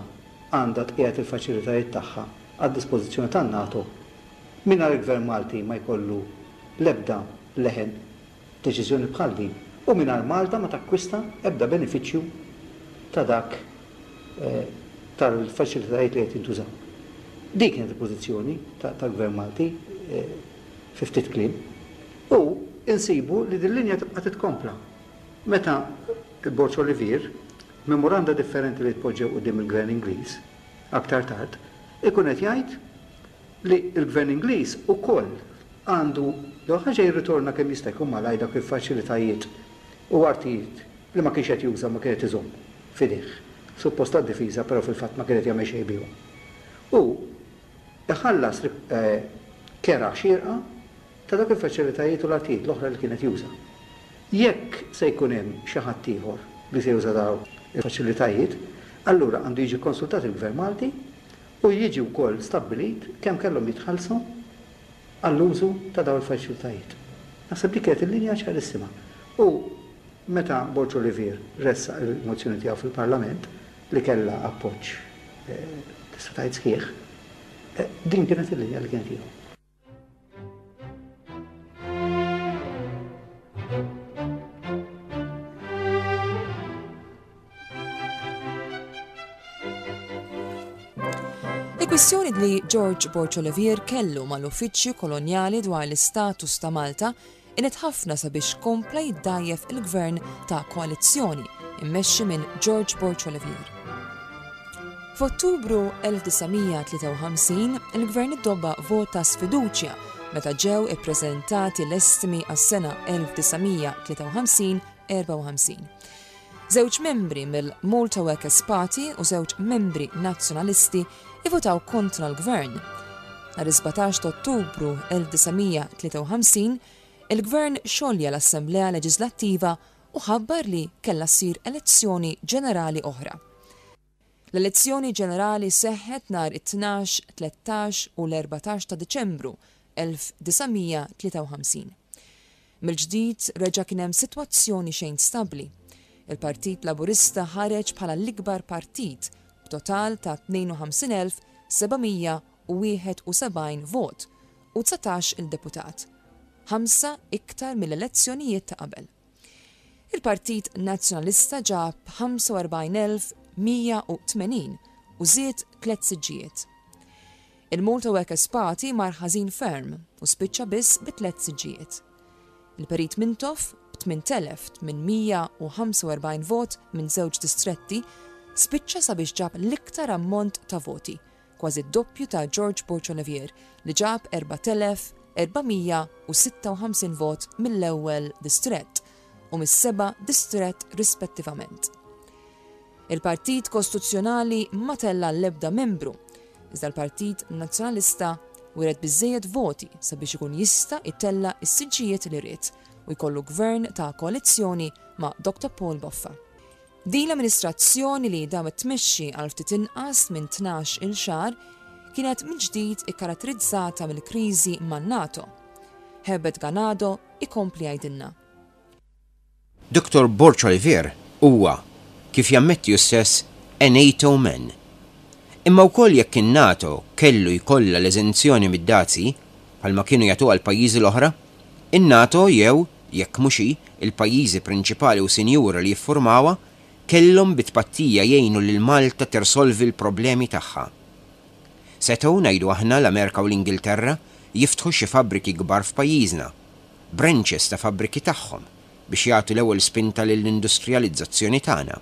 għandha tqiegħed il-faċilitajiet tagħha għad-dispożizzjoni tan-NATO mingħajr il-Gvern Malti ma jkollu l-ebda leħen f'deċiżjoni bħal din u mingħajr Malta ma takkwista ebda benefiċċju ta' dak tal-faċilitajiet li qed jintużaw. Din kienet il-pożizzjoni tal-Gvern Malti fi ftit kliem. U insibu li din linja tibqa' titkompla meta Borg Olivier, f'memoranda differenti li tpoġġew quddiem il-Gvern Ingliż aktar tard, ikun qed jgħid li l-Gvern Ingliż ukoll għandu l-ewwel ħaġa jirritorna kemm jista' jkun malajr dawk il-faċilitajiet u artijiet li ma kienx qed juża u ma kien qed iżomm f'idejh, suppost għad-difiża però fil-fatt ma kien qed jagħmel xejn bihom. U iħallas kera xierqa ta' dawk il-faċilitajiet u l-artijiet l-oħra li kien qed juża. Jekk se jkun hemm xi ħadd ieħor li se juża dawk il-faċilitajiet, allura għandu jiġi kkonsultat il-Gvern Malti u jiġi wkoll stabbilit kemm kellhom jitħallsu għall-użu ta' dawn il-faċilitajiet. Naħseb dik kienet il-linja ċarissima. U meta Borg Olivier ressaq il-mozzjoni tiegħu fil-Parlament, li kellha appoġġ tista' tgħid sħiħ, din kienet il-linja li kienet jieħu. Il-kwistjoni li George Borg Olivier kellu mal-uffiċċju kolonjali dwar l-istatus ta' Malta għenet ħafna sabiex kompla jiddgħajjef il-gvern ta' koalizzjoni mmexxi minn George Borg Olivier. F'Ottubru 1953, il-gvern iddobba vot ta' sfiduċja meta ġew ippreżentati l-estimi għas-sena 1953-54. Żewġ membri mill-Malta Workers' Party u żewġ membri Nazzjonalisti ivvutaw kontra l-gvern. Nhar is-17 ta' Ottubru 1953, il-gvern xolja l-Assemblea Leġiżlattiva u ħabbar li kellha ssir elezzjoni ġenerali oħra. L-elezzjoni ġenerali seħħet nhar it-tnax, 13 u l-14 ta' Diċembru 1953. Mill-ġdid reġa' kien hemm sitwazzjoni xejn stabbli. Il-Partit Laburista ħareġ bħala l-ikbar partit b'total ta' 52,771 vot u 19 il deputat, ħamsa iktar mill-elezzjonijiet ta' qabel. Il-Partit Nazzjonalista ġab 45,180 u żied tliet siġġijiet. Il-Malta Workers' Party mar ħażin ferm u spiċċa biss bi tliet siġġijiet. Il-Perit Mintoff, b'8,845 vot minn żewġ distretti, spiċċa sabiex ġab l-iktar ammont ta' voti, kważi d-doppju ta' George Borg Olivier li ġab 4,456 vot mill-ewwel distrett u mis-seba' distrett rispettivament. Il-Partit Kostituzzjonali ma tella' l-ebda membru, iżda l-Partit Nazzjonalista wiret biżżejjed voti sabiex ikun jista' jtella' s-siġġijiet li ried u jkollu gvern ta' koalizzjoni ma' Dr Paul Boffa. Din l-amministrazzjoni li damet tmexxi għal ftit inqas minn 12-il xahar kienet mill-ġdid ikkaratterizzata mill-kriżi man-NATO. Herbert Ganado ikompli jgħidilna. Dottor Borg Olivier huwa, kif jammetti hu stess, a NATO man. Imma wkoll jekk in-NATO kellu jkollha l-eżenzjoni mid-dazji, bħalma kienu jagħtuha l-pajjiżi l-oħra, in-NATO jew, jekk mhux hi, il-pajjiżi prinċipali u sinjuri li jiffurmawha, kellhom bi tpattija jgħinu lil Malta tirsolvi l-problemi tagħha. Setgħu, ngħidu aħna, l-Amerika u l-Ingilterra jiftħu xi fabbriki kbar f'pajjiżna. branches ta' fabbriki tagħhom biex jagħtu l-ewwel spinta lill-industrijalizzazzjoni tagħna.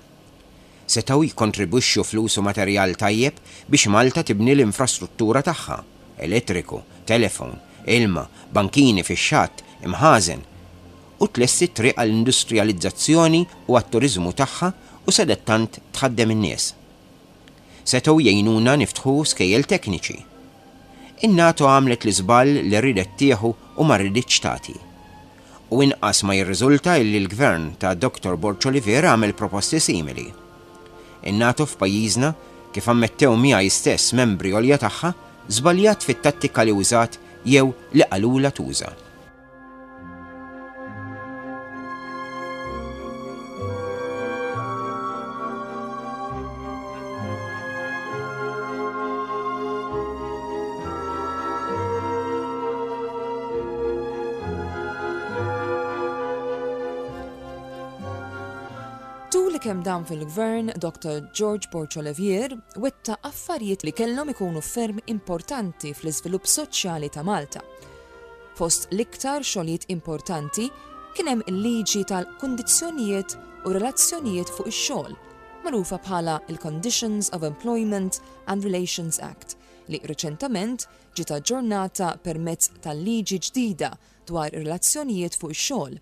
Setgħu jikkontribwixxu flus u materjal tajjeb biex Malta tibni l-infrastruttura tagħha, elettriku, telefon, ilma, bankini fix-xatt, imħażen, u tlesti t-triq għall-industrijalizzazzjoni u għat-turiżmu tagħha u sadattant tħaddem in-nies. Setgħu jgħinuna niftħu skejjel tekniċi. In-NATO għamlet l-iżball li riedet tieħu u ma riditx tagħti. U inqas ma jirriżulta illi l-Gvern ta' Dottor Borg Olivier għamel proposti simili. In-NATO f'pajjiżna, kif ammettew miegħi stess membri għolja tagħha, żbaljat fit-tattika li użat jew li qalulha tuża. Tul kemm dam fil-gvern, Dr. George Borg Olivier wettaq affarijiet li kellhom ikunu ferm importanti fl-iżvilupp soċjali ta' Malta. Fost l-iktar xogħlijiet importanti kien hemm il-liġi tal-kundizzjonijiet u relazzjonijiet fuq ix-xogħol, magħrufa bħala l-Conditions of Employment and Relations Act, li riċentament ġiet aġġornata permezz tal-liġi ġdida dwar ir-relazzjonijiet fuq ix-xogħol,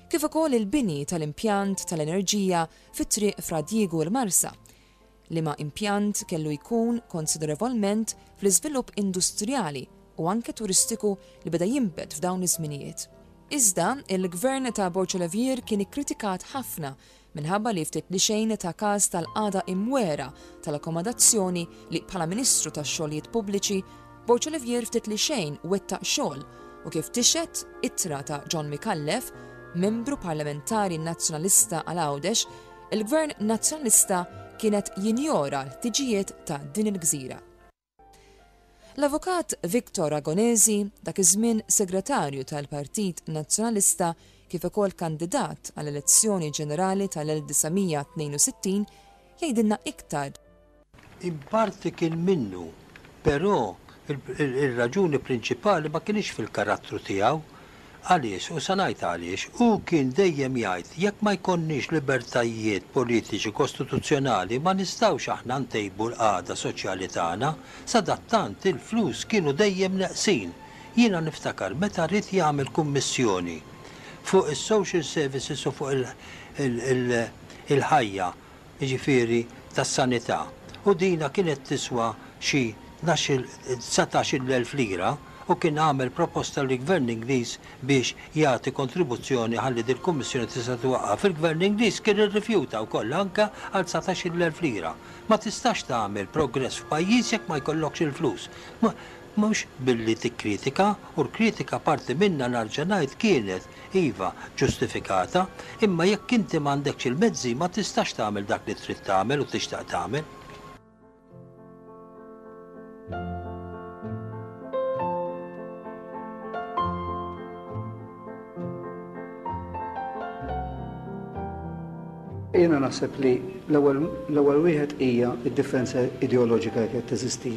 kif ukoll il-bini tal-impjant tal-enerġija fi Triq Fra Diegu l-Marsa, liema impjant kellu jkun konsiderevolment fl-iżvilupp industrijali u anke turistiku li beda jinbet f'dawn iż-żminijiet. Iżda, il-Gvern ta' Borg Olivier kien ikkritikat ħafna minħabba li ftit li xejn ta każ tal-qagħda imwegħra tal-akkomodazzjoni li bħala Ministru tax-Xogħlijiet Pubbliċi, Borg Olivier ftit li xejn wettaq xogħol u kif tixhed ittra ta' John Micallef, Membru Parlamentari Nazzjonalista għal Għawdex, il-Gvern Nazzjonalista kien qed jinjora l-ħtiġijiet ta' din il-gżira. L-Avukat Victor Agonesi, dak iż-żmien Segretarju tal-Partit Nazzjonalista kif ukoll kandidat għall-elezzjoni ġenerali tal-1962, jgħidilna iktar. In parti kien minnu, però ir-raġuni prinċipali ma kinitx fil-karattru tiegħu. Għaliex? U sa ngħid għaliex. Hu kien dejjem jgħid jekk ma jkollniex libertajiet politiċi kostituzzjonali ma nistgħux aħna ntejbu l-qagħda soċjali tagħna. Sadattant il-flus kienu dejjem neqsin. Jiena niftakar meta ried jagħmel kummissjoni fuq is-social services u fuq il-ħajja jiġifieri tas-sanità, u dina kienet tiswa xi tnax-il, dsatax-il elf lira, u kien għamel proposta lill-Gvern Ingliż biex jagħti kontribuzzjoni ħalli dil-kummissjoni tista' titwaqqaf. Il-Gvern Ingliż kien irrifjuta wkoll anke għal dsatax-il elf lira. Ma tistax tagħmel progress f'pajjiż jekk ma jkollokx il-flus. Mhux billi tikkritika, u l-kritika parti minnha narġa' ngħid kienet, iva, ġustifikata, imma jekk inti m'għandekx il-mezzi ma tistax tagħmel dak li trid tagħmel u tixtaq tagħmel. Jiena naħseb li l-ewwel wieħed hija d-differenza ideoloġika li kienet teżisti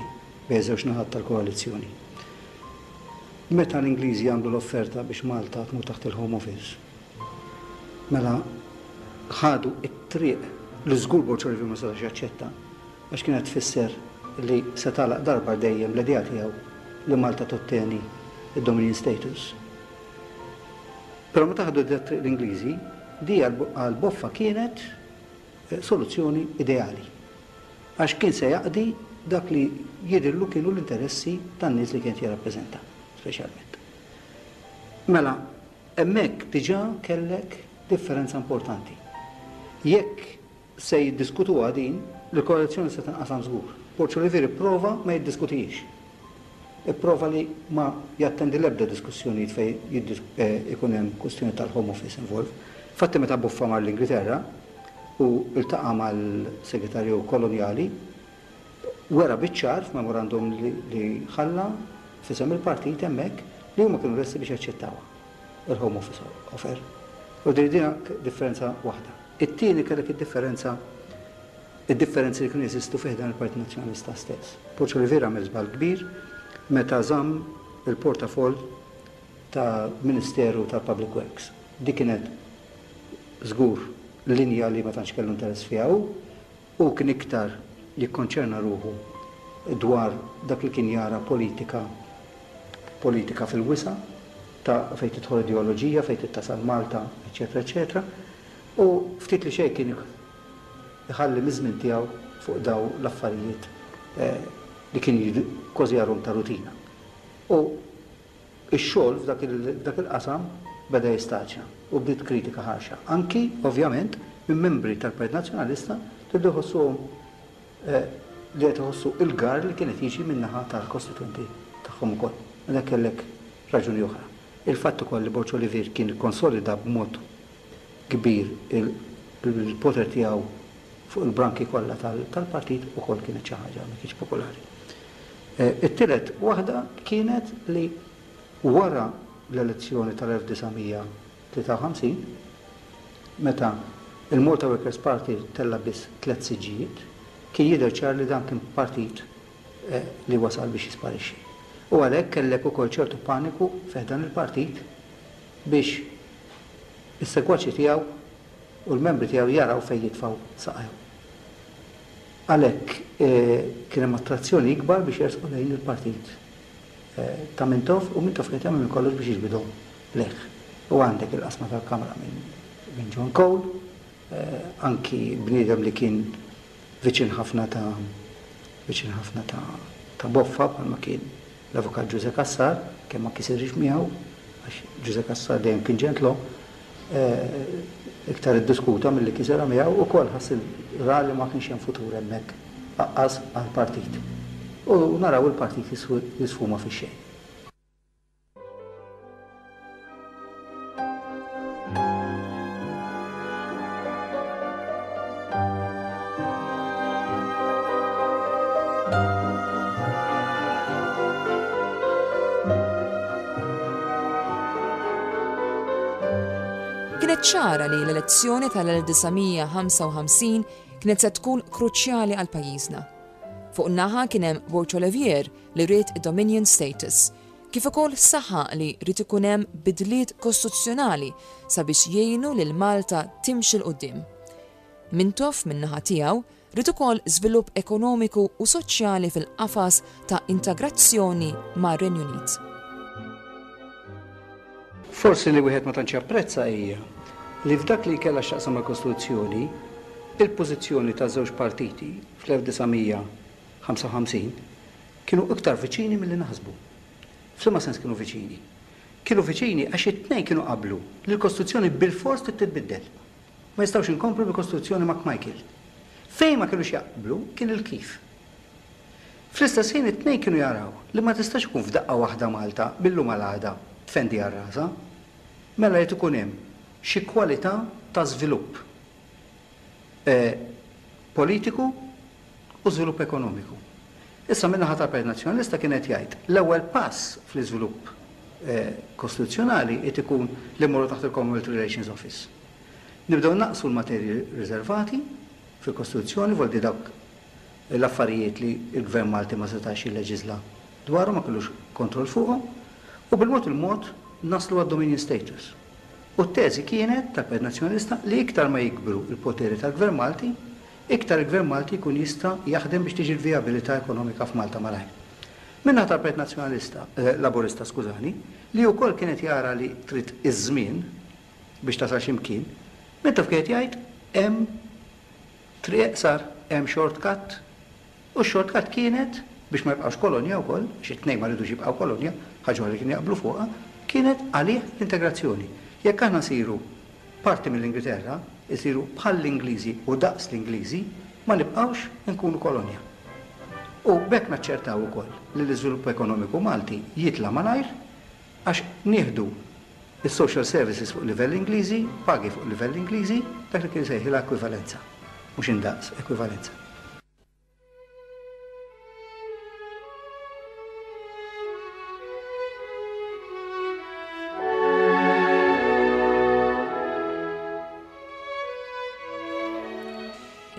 bejn żewġ naħat tal-koalizzjoni. Meta l-Ingliżi għamlu l-offerta biex Malta tmur taħt il-Home Office, mela ħadu t-triq li żgur Borg Olivier ma setax jaċċetta għax kienet tfisser li se tagħlaq darba għal dejjem l-idea tiegħu li Malta totteni d-Dominion Status. Però meta ħadu dat-triq l-Ingliżi, di għal Boffa kienet soluzzjoni ideali. Għax kien se jaqdi dak li jidhirlu kienu l-interessi tan-nies li kien qed jirrappreżenta, speċjalment. Mela, hemmhekk diġà kellek differenza importanti. Jekk se jiddiskutuha din, l-koalizzjoni se tinqasam żgur. Borg Olivier ipprova ma jiddiskutihiex. Ipprova li ma jattendi l-ebda diskussjonijiet fejn ikun hemm kwistjoni tal-Home Office involved. Infatti meta Boffa mar l-Ingilterra u ltaqa' mal-Segretarju Kolonjali, wera biċ-ċar f'memorandum li ħalla f'isem il-partit hemmhekk li huma kienu lesti biex jaċċettawha il-Home Office offer. U din differenza waħda. It-tieni kellek id-differenza id-differenzi li kienu jeżistu fi ħdan il-Partit Nazzjonalista stess. Borg Olivier għamel żball kbir meta żamm il-portafoll. ta' Ministeru tal-Public Works. Dik kienet żgur linja li ma tantx kellu interess fiha hu. Hu kien iktar jikkonċerna ruħu dwar dak li kien jara politika politika fil-wisa' ta' fejn tidħol ideoloġija, fejn trid tasal Malta, eċċetera eċċetera. U ftit li xejn kien iħalli miż-żmien tiegħu fuq dawn l-affarijiet li kien kważi jarhom ta' rutina. U Ix-xogħol f'dak il-qasam beda jistaġna u bdiet kritika ħarxa, anki, ovvjament, minn membri tal-Partit Nazzjonalista li bdew iħossuhom li qed iħossu l-garr li kien qed jiġi min-naħa tal-kostitwenti tagħhom ukoll. Mela kellek raġuni oħra. Il-fatt ukoll li Borg Olivier kien ikkonsolida b'mod kbir il-poter tiegħu fuq il-branki kollha tal-partit ukoll kienet xi ħaġa ma kienx popolari. It-tielet waħda kienet li wara l-elezzjoni tal-1953, meta l-Malta Workers' Party tella' biss tlett siġġijiet, kien jidher ċar li dan kien partit li wasal biex jisparixxi. U għalhekk kellek ukoll ċertu paniku fi ħdan il-partit biex is-segwaċi tiegħu u l-membri tiegħu jaraw fejn jitfgħu saqajhom. Għalhekk kien hemm attrazzjoni ikbar biex jersqu lejn il-partit ta' Mintoff u Mintoff kien qed jagħmel minn kollox biex jiġbidhom lejh. U għandek il-qasma tal-Kamra minn John Cole, anki bniedem li kien viċin ħafna ta' viċin ħafna ta' ta' Boffa bħalma kien l-Avukat Ġużè Cassar, kemm ma kisirx miegħu, għax Ġużè Cassar dejjem kien ġentlom, iktar iddiskuta milli kisirha miegħu, ukoll ħass ra li ma kienx hemm futur hemmhekk aqqas għall-partit. U naraw il-partit jisfuma fix-xejn. Kienet ċara li l-elezzjoni tal-1955 kienet se tkun kruċjali għal pajjiżna. Fuq naħa kien hemm Borg Olivier li ried id-Dominion status, kif ukoll saħaq li ried ikun hemm bidliet kostituzzjonali sabiex jgħinu lil Malta timxi 'l quddiem. Mintoff min-naħa tiegħu ried ukoll żvilupp ekonomiku u soċjali fil-qafas ta' integrazzjoni mar-Renju Unit. Forsi li wieħed ma tantx japprezza hija li f'dak li kellha x'taqsam mal-Kostituzzjoni, il-pożizzjoni taż-żewġ partiti fl-1955 kienu iktar viċini milli naħsbu. F'liema sens kienu viċini? Kienu viċini għax it-tnejn kienu qablu li l-Kostituzzjoni bilfors trid titbiddel. Ma jistgħux inkomplu bil-Kostituzzjoni McMichael. Fejn ma kinux jaqblu kien il-kif. Fl-istess ħin it-tnejn kienu jaraw li ma tistax ikun f'daqqa waħda Malta mil-lum għal għada tfendi għal rasha. Mela jrid ikun hemm xi kwalità ta' żvilupp politiku u żvilupp ekonomiku. Issa min-naħa tal-Partit Nazzjonalista kien qed jgħid l-ewwel pass fl-iżvilupp kostituzzjonali qed ikun li mmorru taħt il-Commonwealth Relations Office. Nibdew naqsu l-materji riservati fil-Kostituzzjoni, vuol dire dawk l-affarijiet li l-Gvern Malti ma setax jilleġiżla dwarhom, ma kellux kontroll fuqhom, u bil-mod il-mod naslu għad-Dominion Status. U t-teżi kienet tal-Partit Nazzjonalista li iktar ma jikbru l-poteri tal-Gvern Malti, iktar il-Gvern Malti jkun jista' jaħdem biex tiġi l-vijabilità ekonomika f'Malta malajr. Min-naħa tal-Partit Nazzjonalista, Laburista, skużani, li wkoll kien qed jara li trid iż-żmien biex tasal xi mkien, Mintoff kien qed jgħid hemm triq eqsar, hemm short cut. U x-short cut kienet, biex ma jibqgħux kolonja wkoll, għax it-tnejn ma ridux jibqgħu kolonja, ħaġa oħra li kienu jaqblu fuqha, kienet għalih l-integrazzjoni. Jekk aħna nsiru parti mill-Ingilterra, isiru bħall-Ingliżi u daqs l-Ingliżi, ma nibqgħux inkunu kolonja. U b'hekk naċċertaw ukoll li l-iżvilupp ekonomiku Malti jitla' malajr għax nieħdu s-social services fuq livell Ingliżi, pagi fuq livell Ingliżi, dak li kien isejħilha ekwivalenza. Mhux indaqs, ekwivalenza.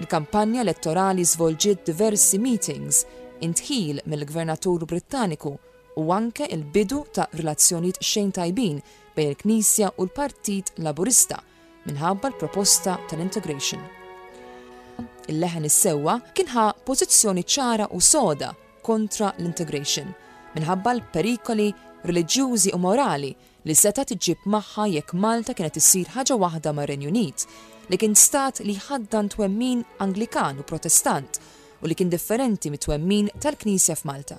Il-kampanja elettorali żvolġiet diversi meetings, indħil mill-Gvernatur Brittaniku. u anke l-bidu ta' relazzjonijiet xejn tajbin bejn il-Knisja u l-Partit Laburista minħabba l-proposta tal-integration. Il-Leħen is-Sewwa kien ħa pożizzjoni ċara u soda kontra l-integration minħabba l-perikoli reliġjużi u morali li setgħet iġġib magħha jekk Malta kienet issir ħaġa waħda mar-Renju Unit, li kien stat li jħaddan twemmin Anglikan u Protestant u li kien differenti mit-twemmin tal-Knisja f'Malta.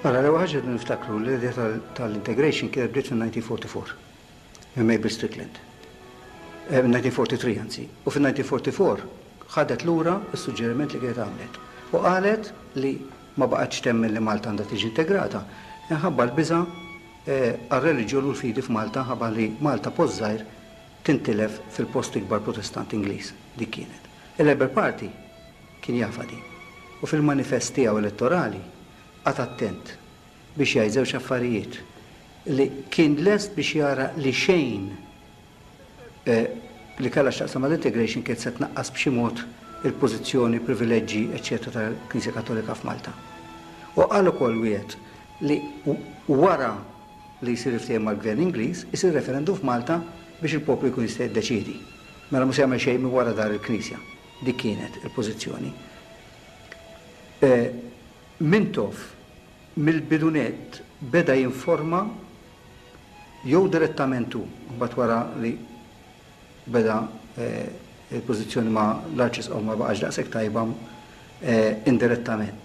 Mela, l-ewwel ħaġa rridu niftakru li l-idea tal-integration kienet bdiet fin-1944 minn Mabel Strickland. 1943 anzi. U fin-1944 ħadet lura s-suġġeriment li kienet għamlet u qalet li ma baqgħetx temmen li Malta għandha tiġi integrata minħabba l-biża' għar-reliġjon u l-fidi f'Malta ħabba li Malta post żgħir tintilef fil-post ikbar Protestant Ingliż. Dik kienet. Il-Labour Party kien jafha din. U fil-manifest tiegħu elettorali qagħad attent biex jgħid żewġ affarijiet, li kien lest biex jara li xejn li kellha x'taqsam mal-integration kienet se tnaqqas b'xi mod il-pożizzjoni, privileġġi, eċċetera tal-Knisja Kattolika f'Malta. U qal ukoll wiegħed li wara li jsir il-ftehim mal-Gvern Ingliż, isir referendum f'Malta biex il-poplu jkun jista' jiddeċiedi. Mela mhu se jagħmel xejn minn wara dahar il-Knisja. Dik kienet il-pożizzjoni. Mintoff mill-bidu nett beda jinforma jew direttament hu, imbagħad wara li beda l-pożizzjoni ma' l-Arċisqof ma baqgħetx daqshekk tajba, indirettament.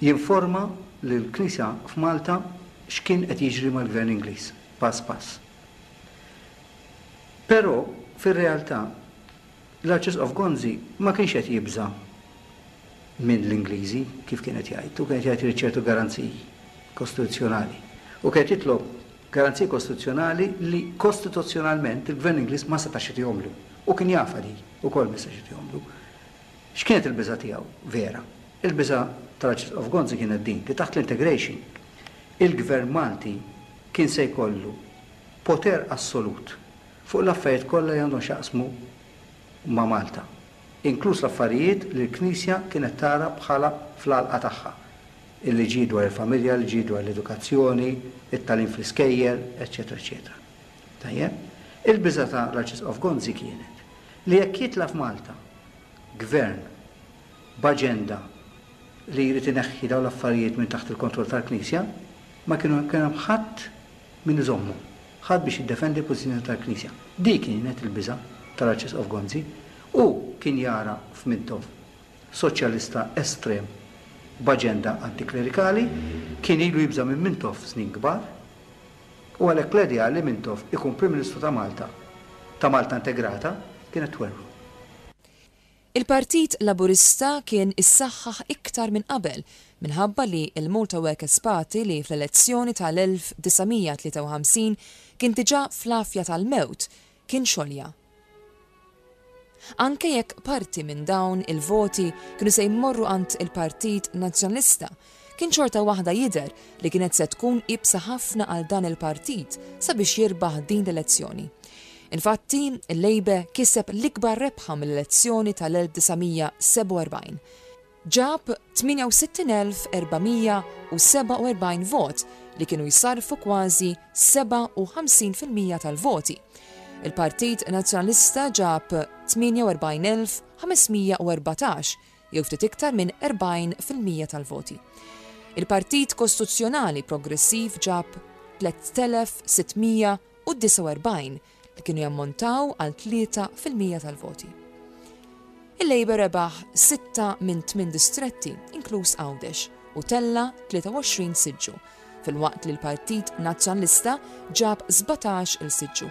Jinforma lill-Knisja f'Malta x'kien qed jiġri mal-Gvern Ingliż, pass pass. Però, fir-realtà, L-Arċisqof Gonzi ma kienx qed jibża' minn l-Ingliżi, kif kien qed jgħid. Hu kien qed jgħid irid ċertu garanziji kostituzzjonali. U kien qed jitlob garanziji kostituzzjonali li kostituzzjonalment il-Gvern Ingliż ma setax jagħtihomlu. U kien jafha di wkoll ma setax jagħtihomlu. X'kienet il-biża' tiegħu vera? Il-biża' tal-Arċisqof Gonzi kienet din, li taħt l-integration il-Gvern Malti kien se jkollu poter assolut fuq l-affarijiet kollha li għandhom x'jaqsmu ma' Malta, inkluż l-affarijiet li l-Knisja kienet tara bħala fl-għalqa tagħha, il-liġijiet dwar il-familja, il-liġijiet dwar l-edukazzjoni, it-tagħlim fl-iskejjel, eċċetera eċċetera. Tajjeb? Il-biża' ta' l-Arċisqof Gonzi kienet li jekk jitla' f'Malta gvern b'aġenda li jrid ineħħi dawn l-affarijiet minn taħt il-kontroll tal-Knisja, ma kienu kien hemm ħadd min iżommu, ħadd biex jiddefendi l-pożizzjoni tal-Knisja. Dik kienet il-biża' tal-Arċisqof Gonzi. Hu kien jara f'Mintoff soċjalista estrem b'aġenda antiklerikali, kien ilu jibża' minn Mintoff snin kbar, u għalhekk l-idea li Mintoff ikun Prim Ministru ta' Malta, ta' Malta integrata, kienet twerwru. Il-Partit Laburista kien issaħħaħ iktar minn qabel minħabba li l-Malta Workers' Party li fl-elezzjoni tal-1953 kien diġà fl-għafja tal-mewt kien xolja. Anke jekk parti minn dawn il-voti kienu se jmorru għand il-Partit Nazzjonalista, kien xorta waħda jidher li kienet se tkun iebsa ħafna għal dan il-partit sabiex jirbaħ din l-elezzjoni. Infatti, il-Labour kiseb l-ikbar rebħa mill-elezzjoni tal-1947. Ġab 68,447 vot li kienu jsarrfu kważi 57% tal-voti. Il-Partit Nazzjonalista ġab 48,514 jew ftit iktar minn 40% tal-voti. Il-Partit Kostituzzjonali Progressiv ġab 3,649 li kienu jammontaw għal 3% tal-voti. Il-Labour rebaħ sitta minn tmien distretti, inkluż Għawdex, u tella' 23 siġġu, filwaqt li l-Partit Nazzjonalista ġab 17 il siġġu.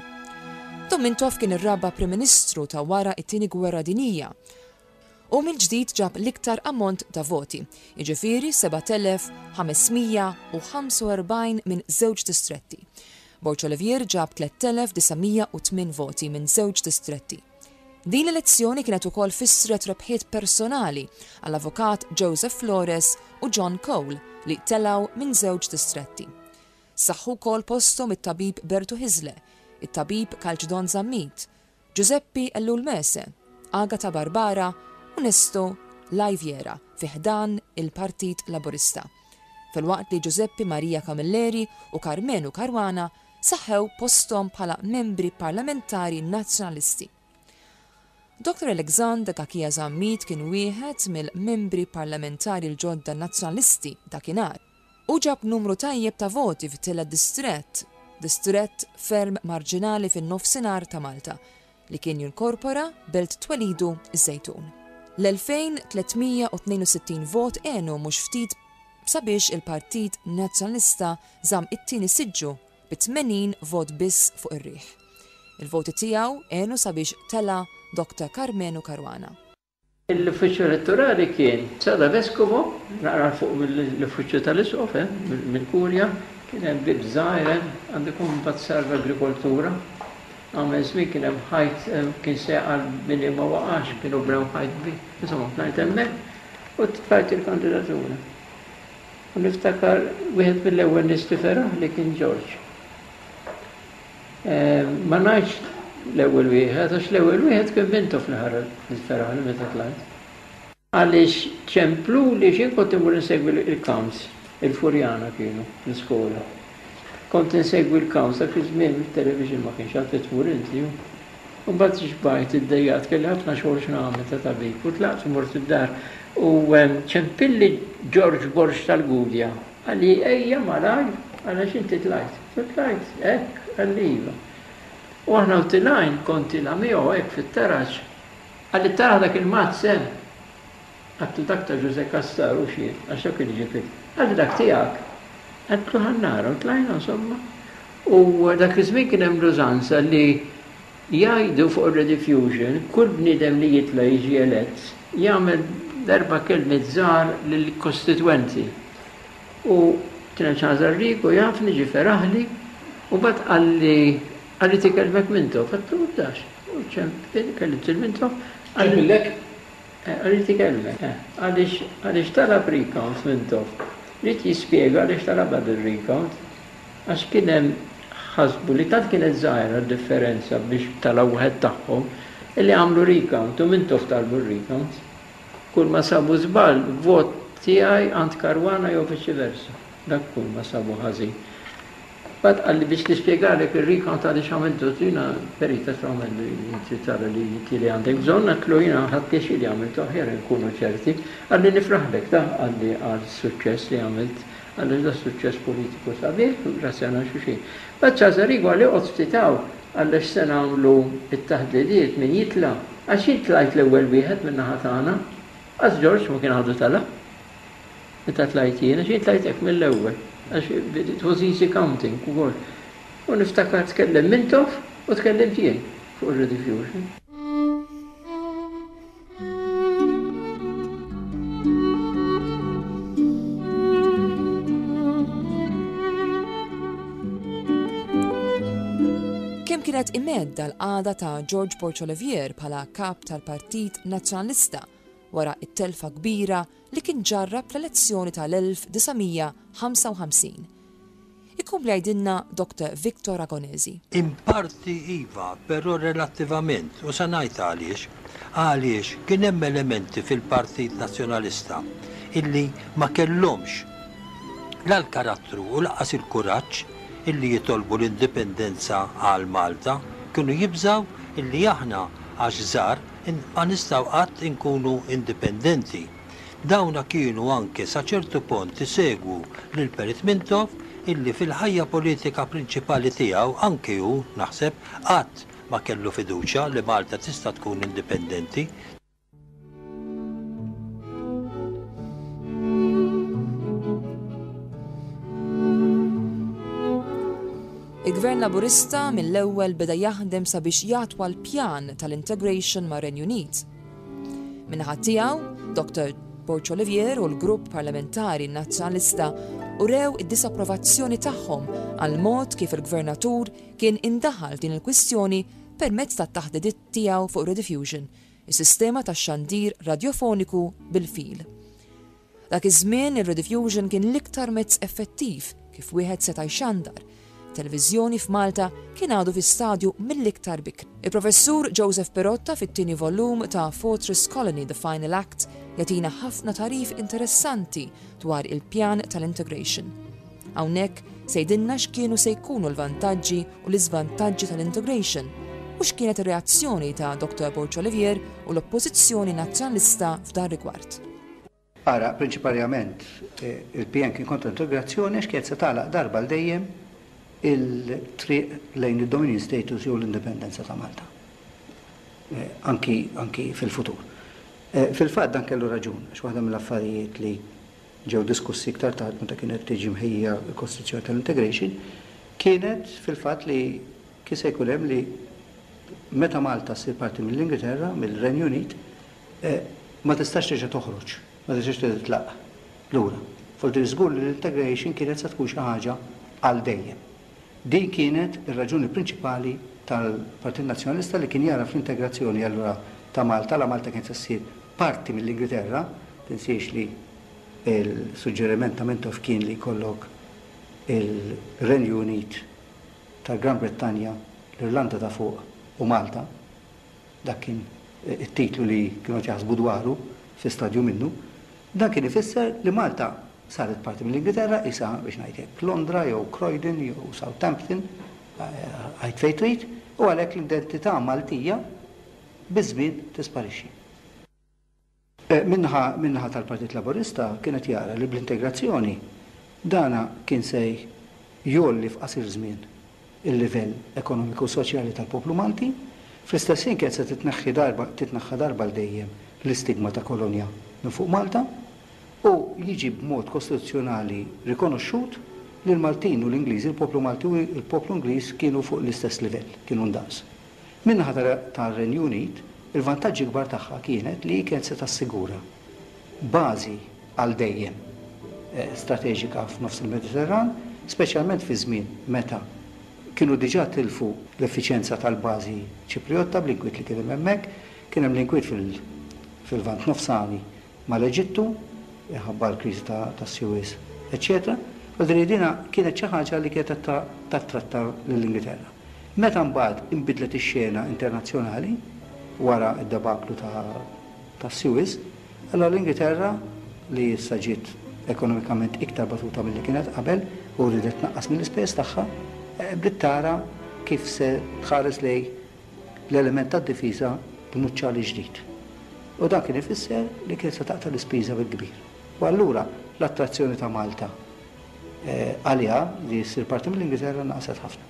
Dom Mintoff kien ir-raba' Prim Ministru ta' wara t-Tieni Gwerra Dinjija Hu mill-ġdid ġab l-iktar ammont ta' voti, jiġifieri 7,545 minn żewġ distretti. Borg Olivier ġab 3,908 voti minn żewġ distretti. Din l-elezzjoni kienet ukoll fissret rebħiet personali għall-Avukat Joseph Flores u John Cole li telgħu minn żewġ distretti. Saħħu wkoll posthom it-Tabib Bertu Hyzler, it-Tabib Kalċdon Zammit, Ġużeppi Ellul Mese, Agata Barbara u Nesto Laiviera fi ħdan il-Partit Laburista. filwaqt li Giuseppe Maria Camilleri u Karmenu Caruana saħħew posthom bħala membri parlamentari Nazzjonalisti. Dottor Alexander Cachia Zammit kien wieħed mill-membri parlamentari l-ġodda Nazzjonalisti dakinhar. Hu ġab numru tajjeb ta' voti fit-tielet distrett, distrett ferm marġinali fin-nofsinhar ta' Malta, li kien jinkorpora belt twelidu ż-Żejtun. L-2,362 vot għenu mhux ftit sabiex il-Partit Nazzjonalista żamm it-tieni siġġu bi 80 vot biss fuq ir-riħ. Il-voti tiegħu għenu sabiex tela' Dr Karmenu Caruana. L-uffiċċju elettorali kien Sala Vescovo, naqra 'l fuq mill-uffiċċju tal-Isqof hemm, mill-Kurja, kien hemm bieb żgħir hemm, għandu jkun mbagħad sar l-agrikoltura. Għamel żmien kien hemm ħajt kien se jaqa' l-bini ma waqax, kienu bnew ħajt kbir. Insomma, tlajt hemmhekk u tfajt il-kandidatura. U niftakar wieħed mill-ewwel nies li feraħli kien Ġorġ. Ma ngħidx l-ewwel wieħed għax l-ewwel wieħed kien Mintoff li ħareġ li feraħli meta tlajt. Għaliex ċempluli x'jien kont immur insegwi l-counts, il-Furjana kienu l-iskola. Kont insegwi l-counts dak iż-żmien it-television ma kienx għad tmur inti. U mbagħad xbajt, iddejjaqt, kelli ħafna xogħol x'nagħmel ta' tabib u tlaqt u mort id-dar u ċempilli Ġorġ Borg tal-Gudja qalli ejja malajr għaliex inti tlajt. Għedtlu tlajt hekk? Qalli iva. U aħna u tilgħin kont tilgħa miegħu hekk fit-taraġ. Qalli tara dak il-mazz hemm? Għedtlu dak ta' Ġużè Cassar hux jien għax dak kien iġib il. Qalli dak tiegħek? Għedtlu ħa nara u tlajna insomma. U dak iż-żmien kien hemm l-użanza li jgħidu fuq ir-Rediffusion kull bniedem li jitla' jiġi elett jagħmel darba kelmiet żgħar lill-kostitwenti. U kien hemm Charles Arrigo jafni ġie feraħli u mbagħad qalli qalli tikellmek Mintoff. Għedtlu ibdax. U ċempil kellimt lil Mintoff. Ċempillek? Ried ikellmek. Għaliex għaliex talab recount Mintoff. Ried jispjega għaliex talabha dir-recount. Għax kien hemm ħasbu li tant kienet żgħira d-differenza biex tala' wieħed tagħhom illi għamlu recount u Mintoff talbu r-recount. Kull ma sabu żball, vot tiegħi għand Caruana jew viċi versa. Dak kull ma sabu ħażin. Mbagħad qalli biex nispjegalek ir-recount għaliex għamiltu, għedtlu jiena perit għedtlu għamel inti tara li inti li għandek bżonn, għedtlu jiena ħadt pjaċir li għamiltu aħjar inkunu ċerti. Qalli nifraħlek ta qalli għas-suċċess li għamilt, għaliex da suċċess politiku sabiħ u ringrazzjana xulxin. Mbagħad Charles Arrigo qalli oqgħod ftit hawn għaliex se nagħmlu t-taħdidiet min jitla' għax jien tlajt l-ewwel wieħed min-naħa tagħna. Qas Ġorġ ma kien għadu tala'. Meta tlajt jien, għax jien tlajt hekk mill-ewwel, għax it was easy counting ukoll. U niftakar tkellem Mintoff u tkellimt jien fuq ir-rediffusion. Kemm kienet imedda l-qagħda ta' George Borg Olivier bħala kap tal-Partit Nazzjonalista wara t-telfa kbira li kien ġarrab fl-elezzjoni tal-1955. Ikompli jgħidilna Dr. Victor Ragonesi. In parti iva, però relattivament, u se ngħid għaliex. Għaliex kien hemm elementi fil-Partit Nazzjonalista illi ma kellhomx la l-karattru u lanqas il-kuraġġ illi jitolbu l-indipendenza għal Malta, kienu jibżgħu illi aħna għax żgħar ma nistgħu qatt inkunu indipendenti. Dawna kienu anke sa ċertu pont isegwu lil Perit Mintoff illi fil-ħajja politika prinċipali tiegħu anki hu, naħseb, qatt ma kellu fiduċja li Malta tista' tkun indipendenti. Il-Gvern Laburista mill-ewwel beda jaħdem sabiex jatwa l-pjan tal-integration mar-Renju Unit. Min-naħa tiegħu, Dr. Borg Olivier u l-grupp parlamentari Nazzjonalista urew id-disapprovazzjoni tagħhom għall-mod kif il-Gvernatur kien indaħal f'din il-kwistjoni permezz tat-taħdidiet tiegħu fuq Rediffusion, is-sistema tax-xandir radjofoniku bil-fil. Dak iż-żmien ir-Rediffusion kien l-iktar mezz effettiv kif wieħed seta' jxandar. Televiżjoni f'Malta kien għadu fi stadju mill-iktar bikri. Il-Professur Joseph Pirotta fit-tieni volum ta' Fortress Colony, The Final Act. Jagħtina ħafna tagħrif interessanti dwar il-pjan tal-integration. Hawnhekk se jgħidilna x'kienu se jkunu l-vantaġġi u l-iżvantaġġi tal-integration u x'kienet ir-reazzjoni ta' Dr. Borg Olivier u l-Oppożizzjoni Nazzjonalista f'dan rigward. Ara, prinċiparjament, il-PN kien kontra l-integrazzjoni għax kienet se tagħlaq darba għal dejjem il-triq lejn id-dominion status jew l-indipendenza ta' Malta. Anki, anki fil-futur. Fil-fatt dan kellu raġun, għax waħda mill-affarijiet li ġew diskussi iktar tard meta kienet tiġi mħejjija l-kostruzzjoni tal-integration kienet fil-fatt li kien se jkun hemm li meta Malta ssir parti mill-Ingilterra, mill-Renju Unit, ma tistax terġa' toħroġ, ma tistax terġa' titlaq lura. Forsi żgur li l-integration kienet se tkun xi ħaġa għal dejjem. Din kienet ir-raġuni prinċipali tal-Partit Nazzjonalista li kien jara fl-integrazzjoni allura ta' Malta, la Malta kienet se ssir parti mill-Ingilterra, tinsiex li l-suġġeriment ta' Mintoff kien li jkollok il-Renju Unit tal-Gran Brittanja, l-Irlanda ta' Fuq u Malta. Dak kien it-titlu li kienu qed jaħsbu dwaru fi stadju minnu. Dan kien ifisser li Malta saret parti mill-Ingilterra, qisha, biex ngħid hekk, Londra jew Croydon jew Southampton, għid fejn trid, u għalhekk l-identità Maltija biż-żmien tisparixxi. Min-naħa min-naħa tal-Partit Laburista kien qed jara li bl-integrazzjoni dana kien se jgħolli f'qasir żmien il-livell ekonomiku u soċjali tal-poplu Malti, fl-istess ħin kienet se titneħħi darba titneħħa darba għal dejjem l-istigma ta' kolonja minn fuq Malta u jiġi b'mod kostituzzjonali rikonoxxut li l-Maltin u l-Ingliżi, il-poplu Malti u l-poplu Ingliż kienu fuq l-istess livell, kienu ndaqs. Min-naħa tar-Renju Unit, il-vantaġġi kbar tagħha kienet li hi kienet se tassigura bażi għal dejjem strateġika f'nofs il-Mediterran, speċjalment fi żmien meta kienu diġà tilfu l-effiċjenza tal-bażi Ċipriotta bl-inkwiet li kien hemm hemmhekk. Kien hemm l-inkwiet fil-Lvant Nofsani mal-Eġittu, minħabba l-kriżi tas-Suez, eċċetera Vuol dire dina kienet xi ħaġa li kienet qed tattratta lill-Ingilterra. Meta mbagħad inbidlet ix-xena internazzjonali wara d-debaklu tas-Suez, allura l-Ingilterra, li issa ġiet ekonomikament iktar batuta milli kienet qabel u riedet tnaqqas mill-ispejjeż tagħha, bdiet tara kif se tħares lejn l-element tad-difiża b'nuċċali ġdid. U dan kien ifisser li kienet se taqta' l-ispiża bil-kbir. U allura l-attrazzjoni ta' Malta għaliha li ssir parti mill-Ingilterra naqset ħafna.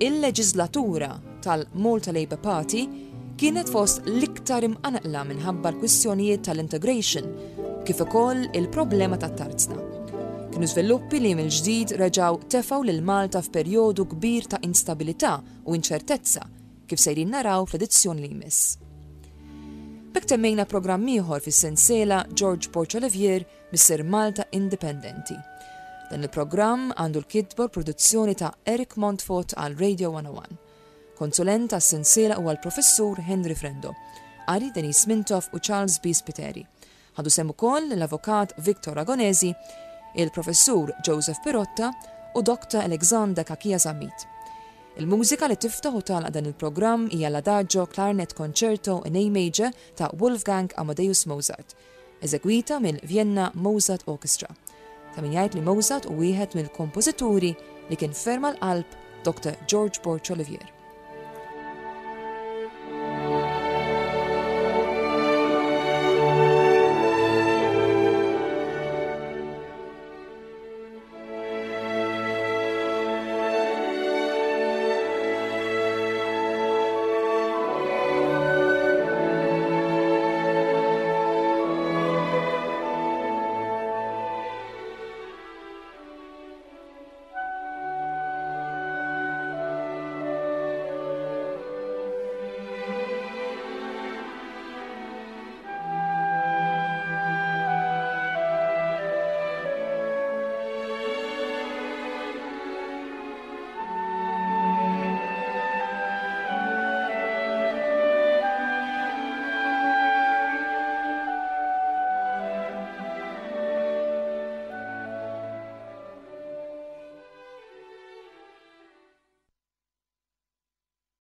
Il-leġiżlatura tal-Malta Labour Party kienet fost l-iktar imqanqla minħabba l-kwistjonijiet tal-integration kif ukoll il-problema tat-tarzna. Kienu żviluppi li mill-ġdid reġgħu tefgħu lil Malta f'perjodu kbir ta' instabilità u inċertezza kif sejrin naraw fl-edizzjoni li jmiss. B'hekk temmejna programm ieħor fis-sensiela George Borg Olivier Missier Malta Indipendenti. Dan il-programm għandu l-kitba u l-produzzjoni ta' Eric Montfort għal Radio 101. Konsulent għas-sensiela huwa l-Professur Henry Frendo. Qari Denise Mintoff u Charles B. Spiteri. Ħadu sehem ukoll l-Avukat Victor Ragonesi, il-Professur Joseph Pirotta u Dr. Alexander Cachia Zammit. Il-mużika li tiftaħ u tagħlaq dan il-programm hija l-Adagio Clarinet Concerto in A Major ta' Wolfgang Amadeus Mozart. eżegwita mill-Vienna Mozart Orchestra. Ta' min jgħid li Mozart hu wieħed mill-kompożituri li kien ferm għal qalb Dr. George Borg Olivier.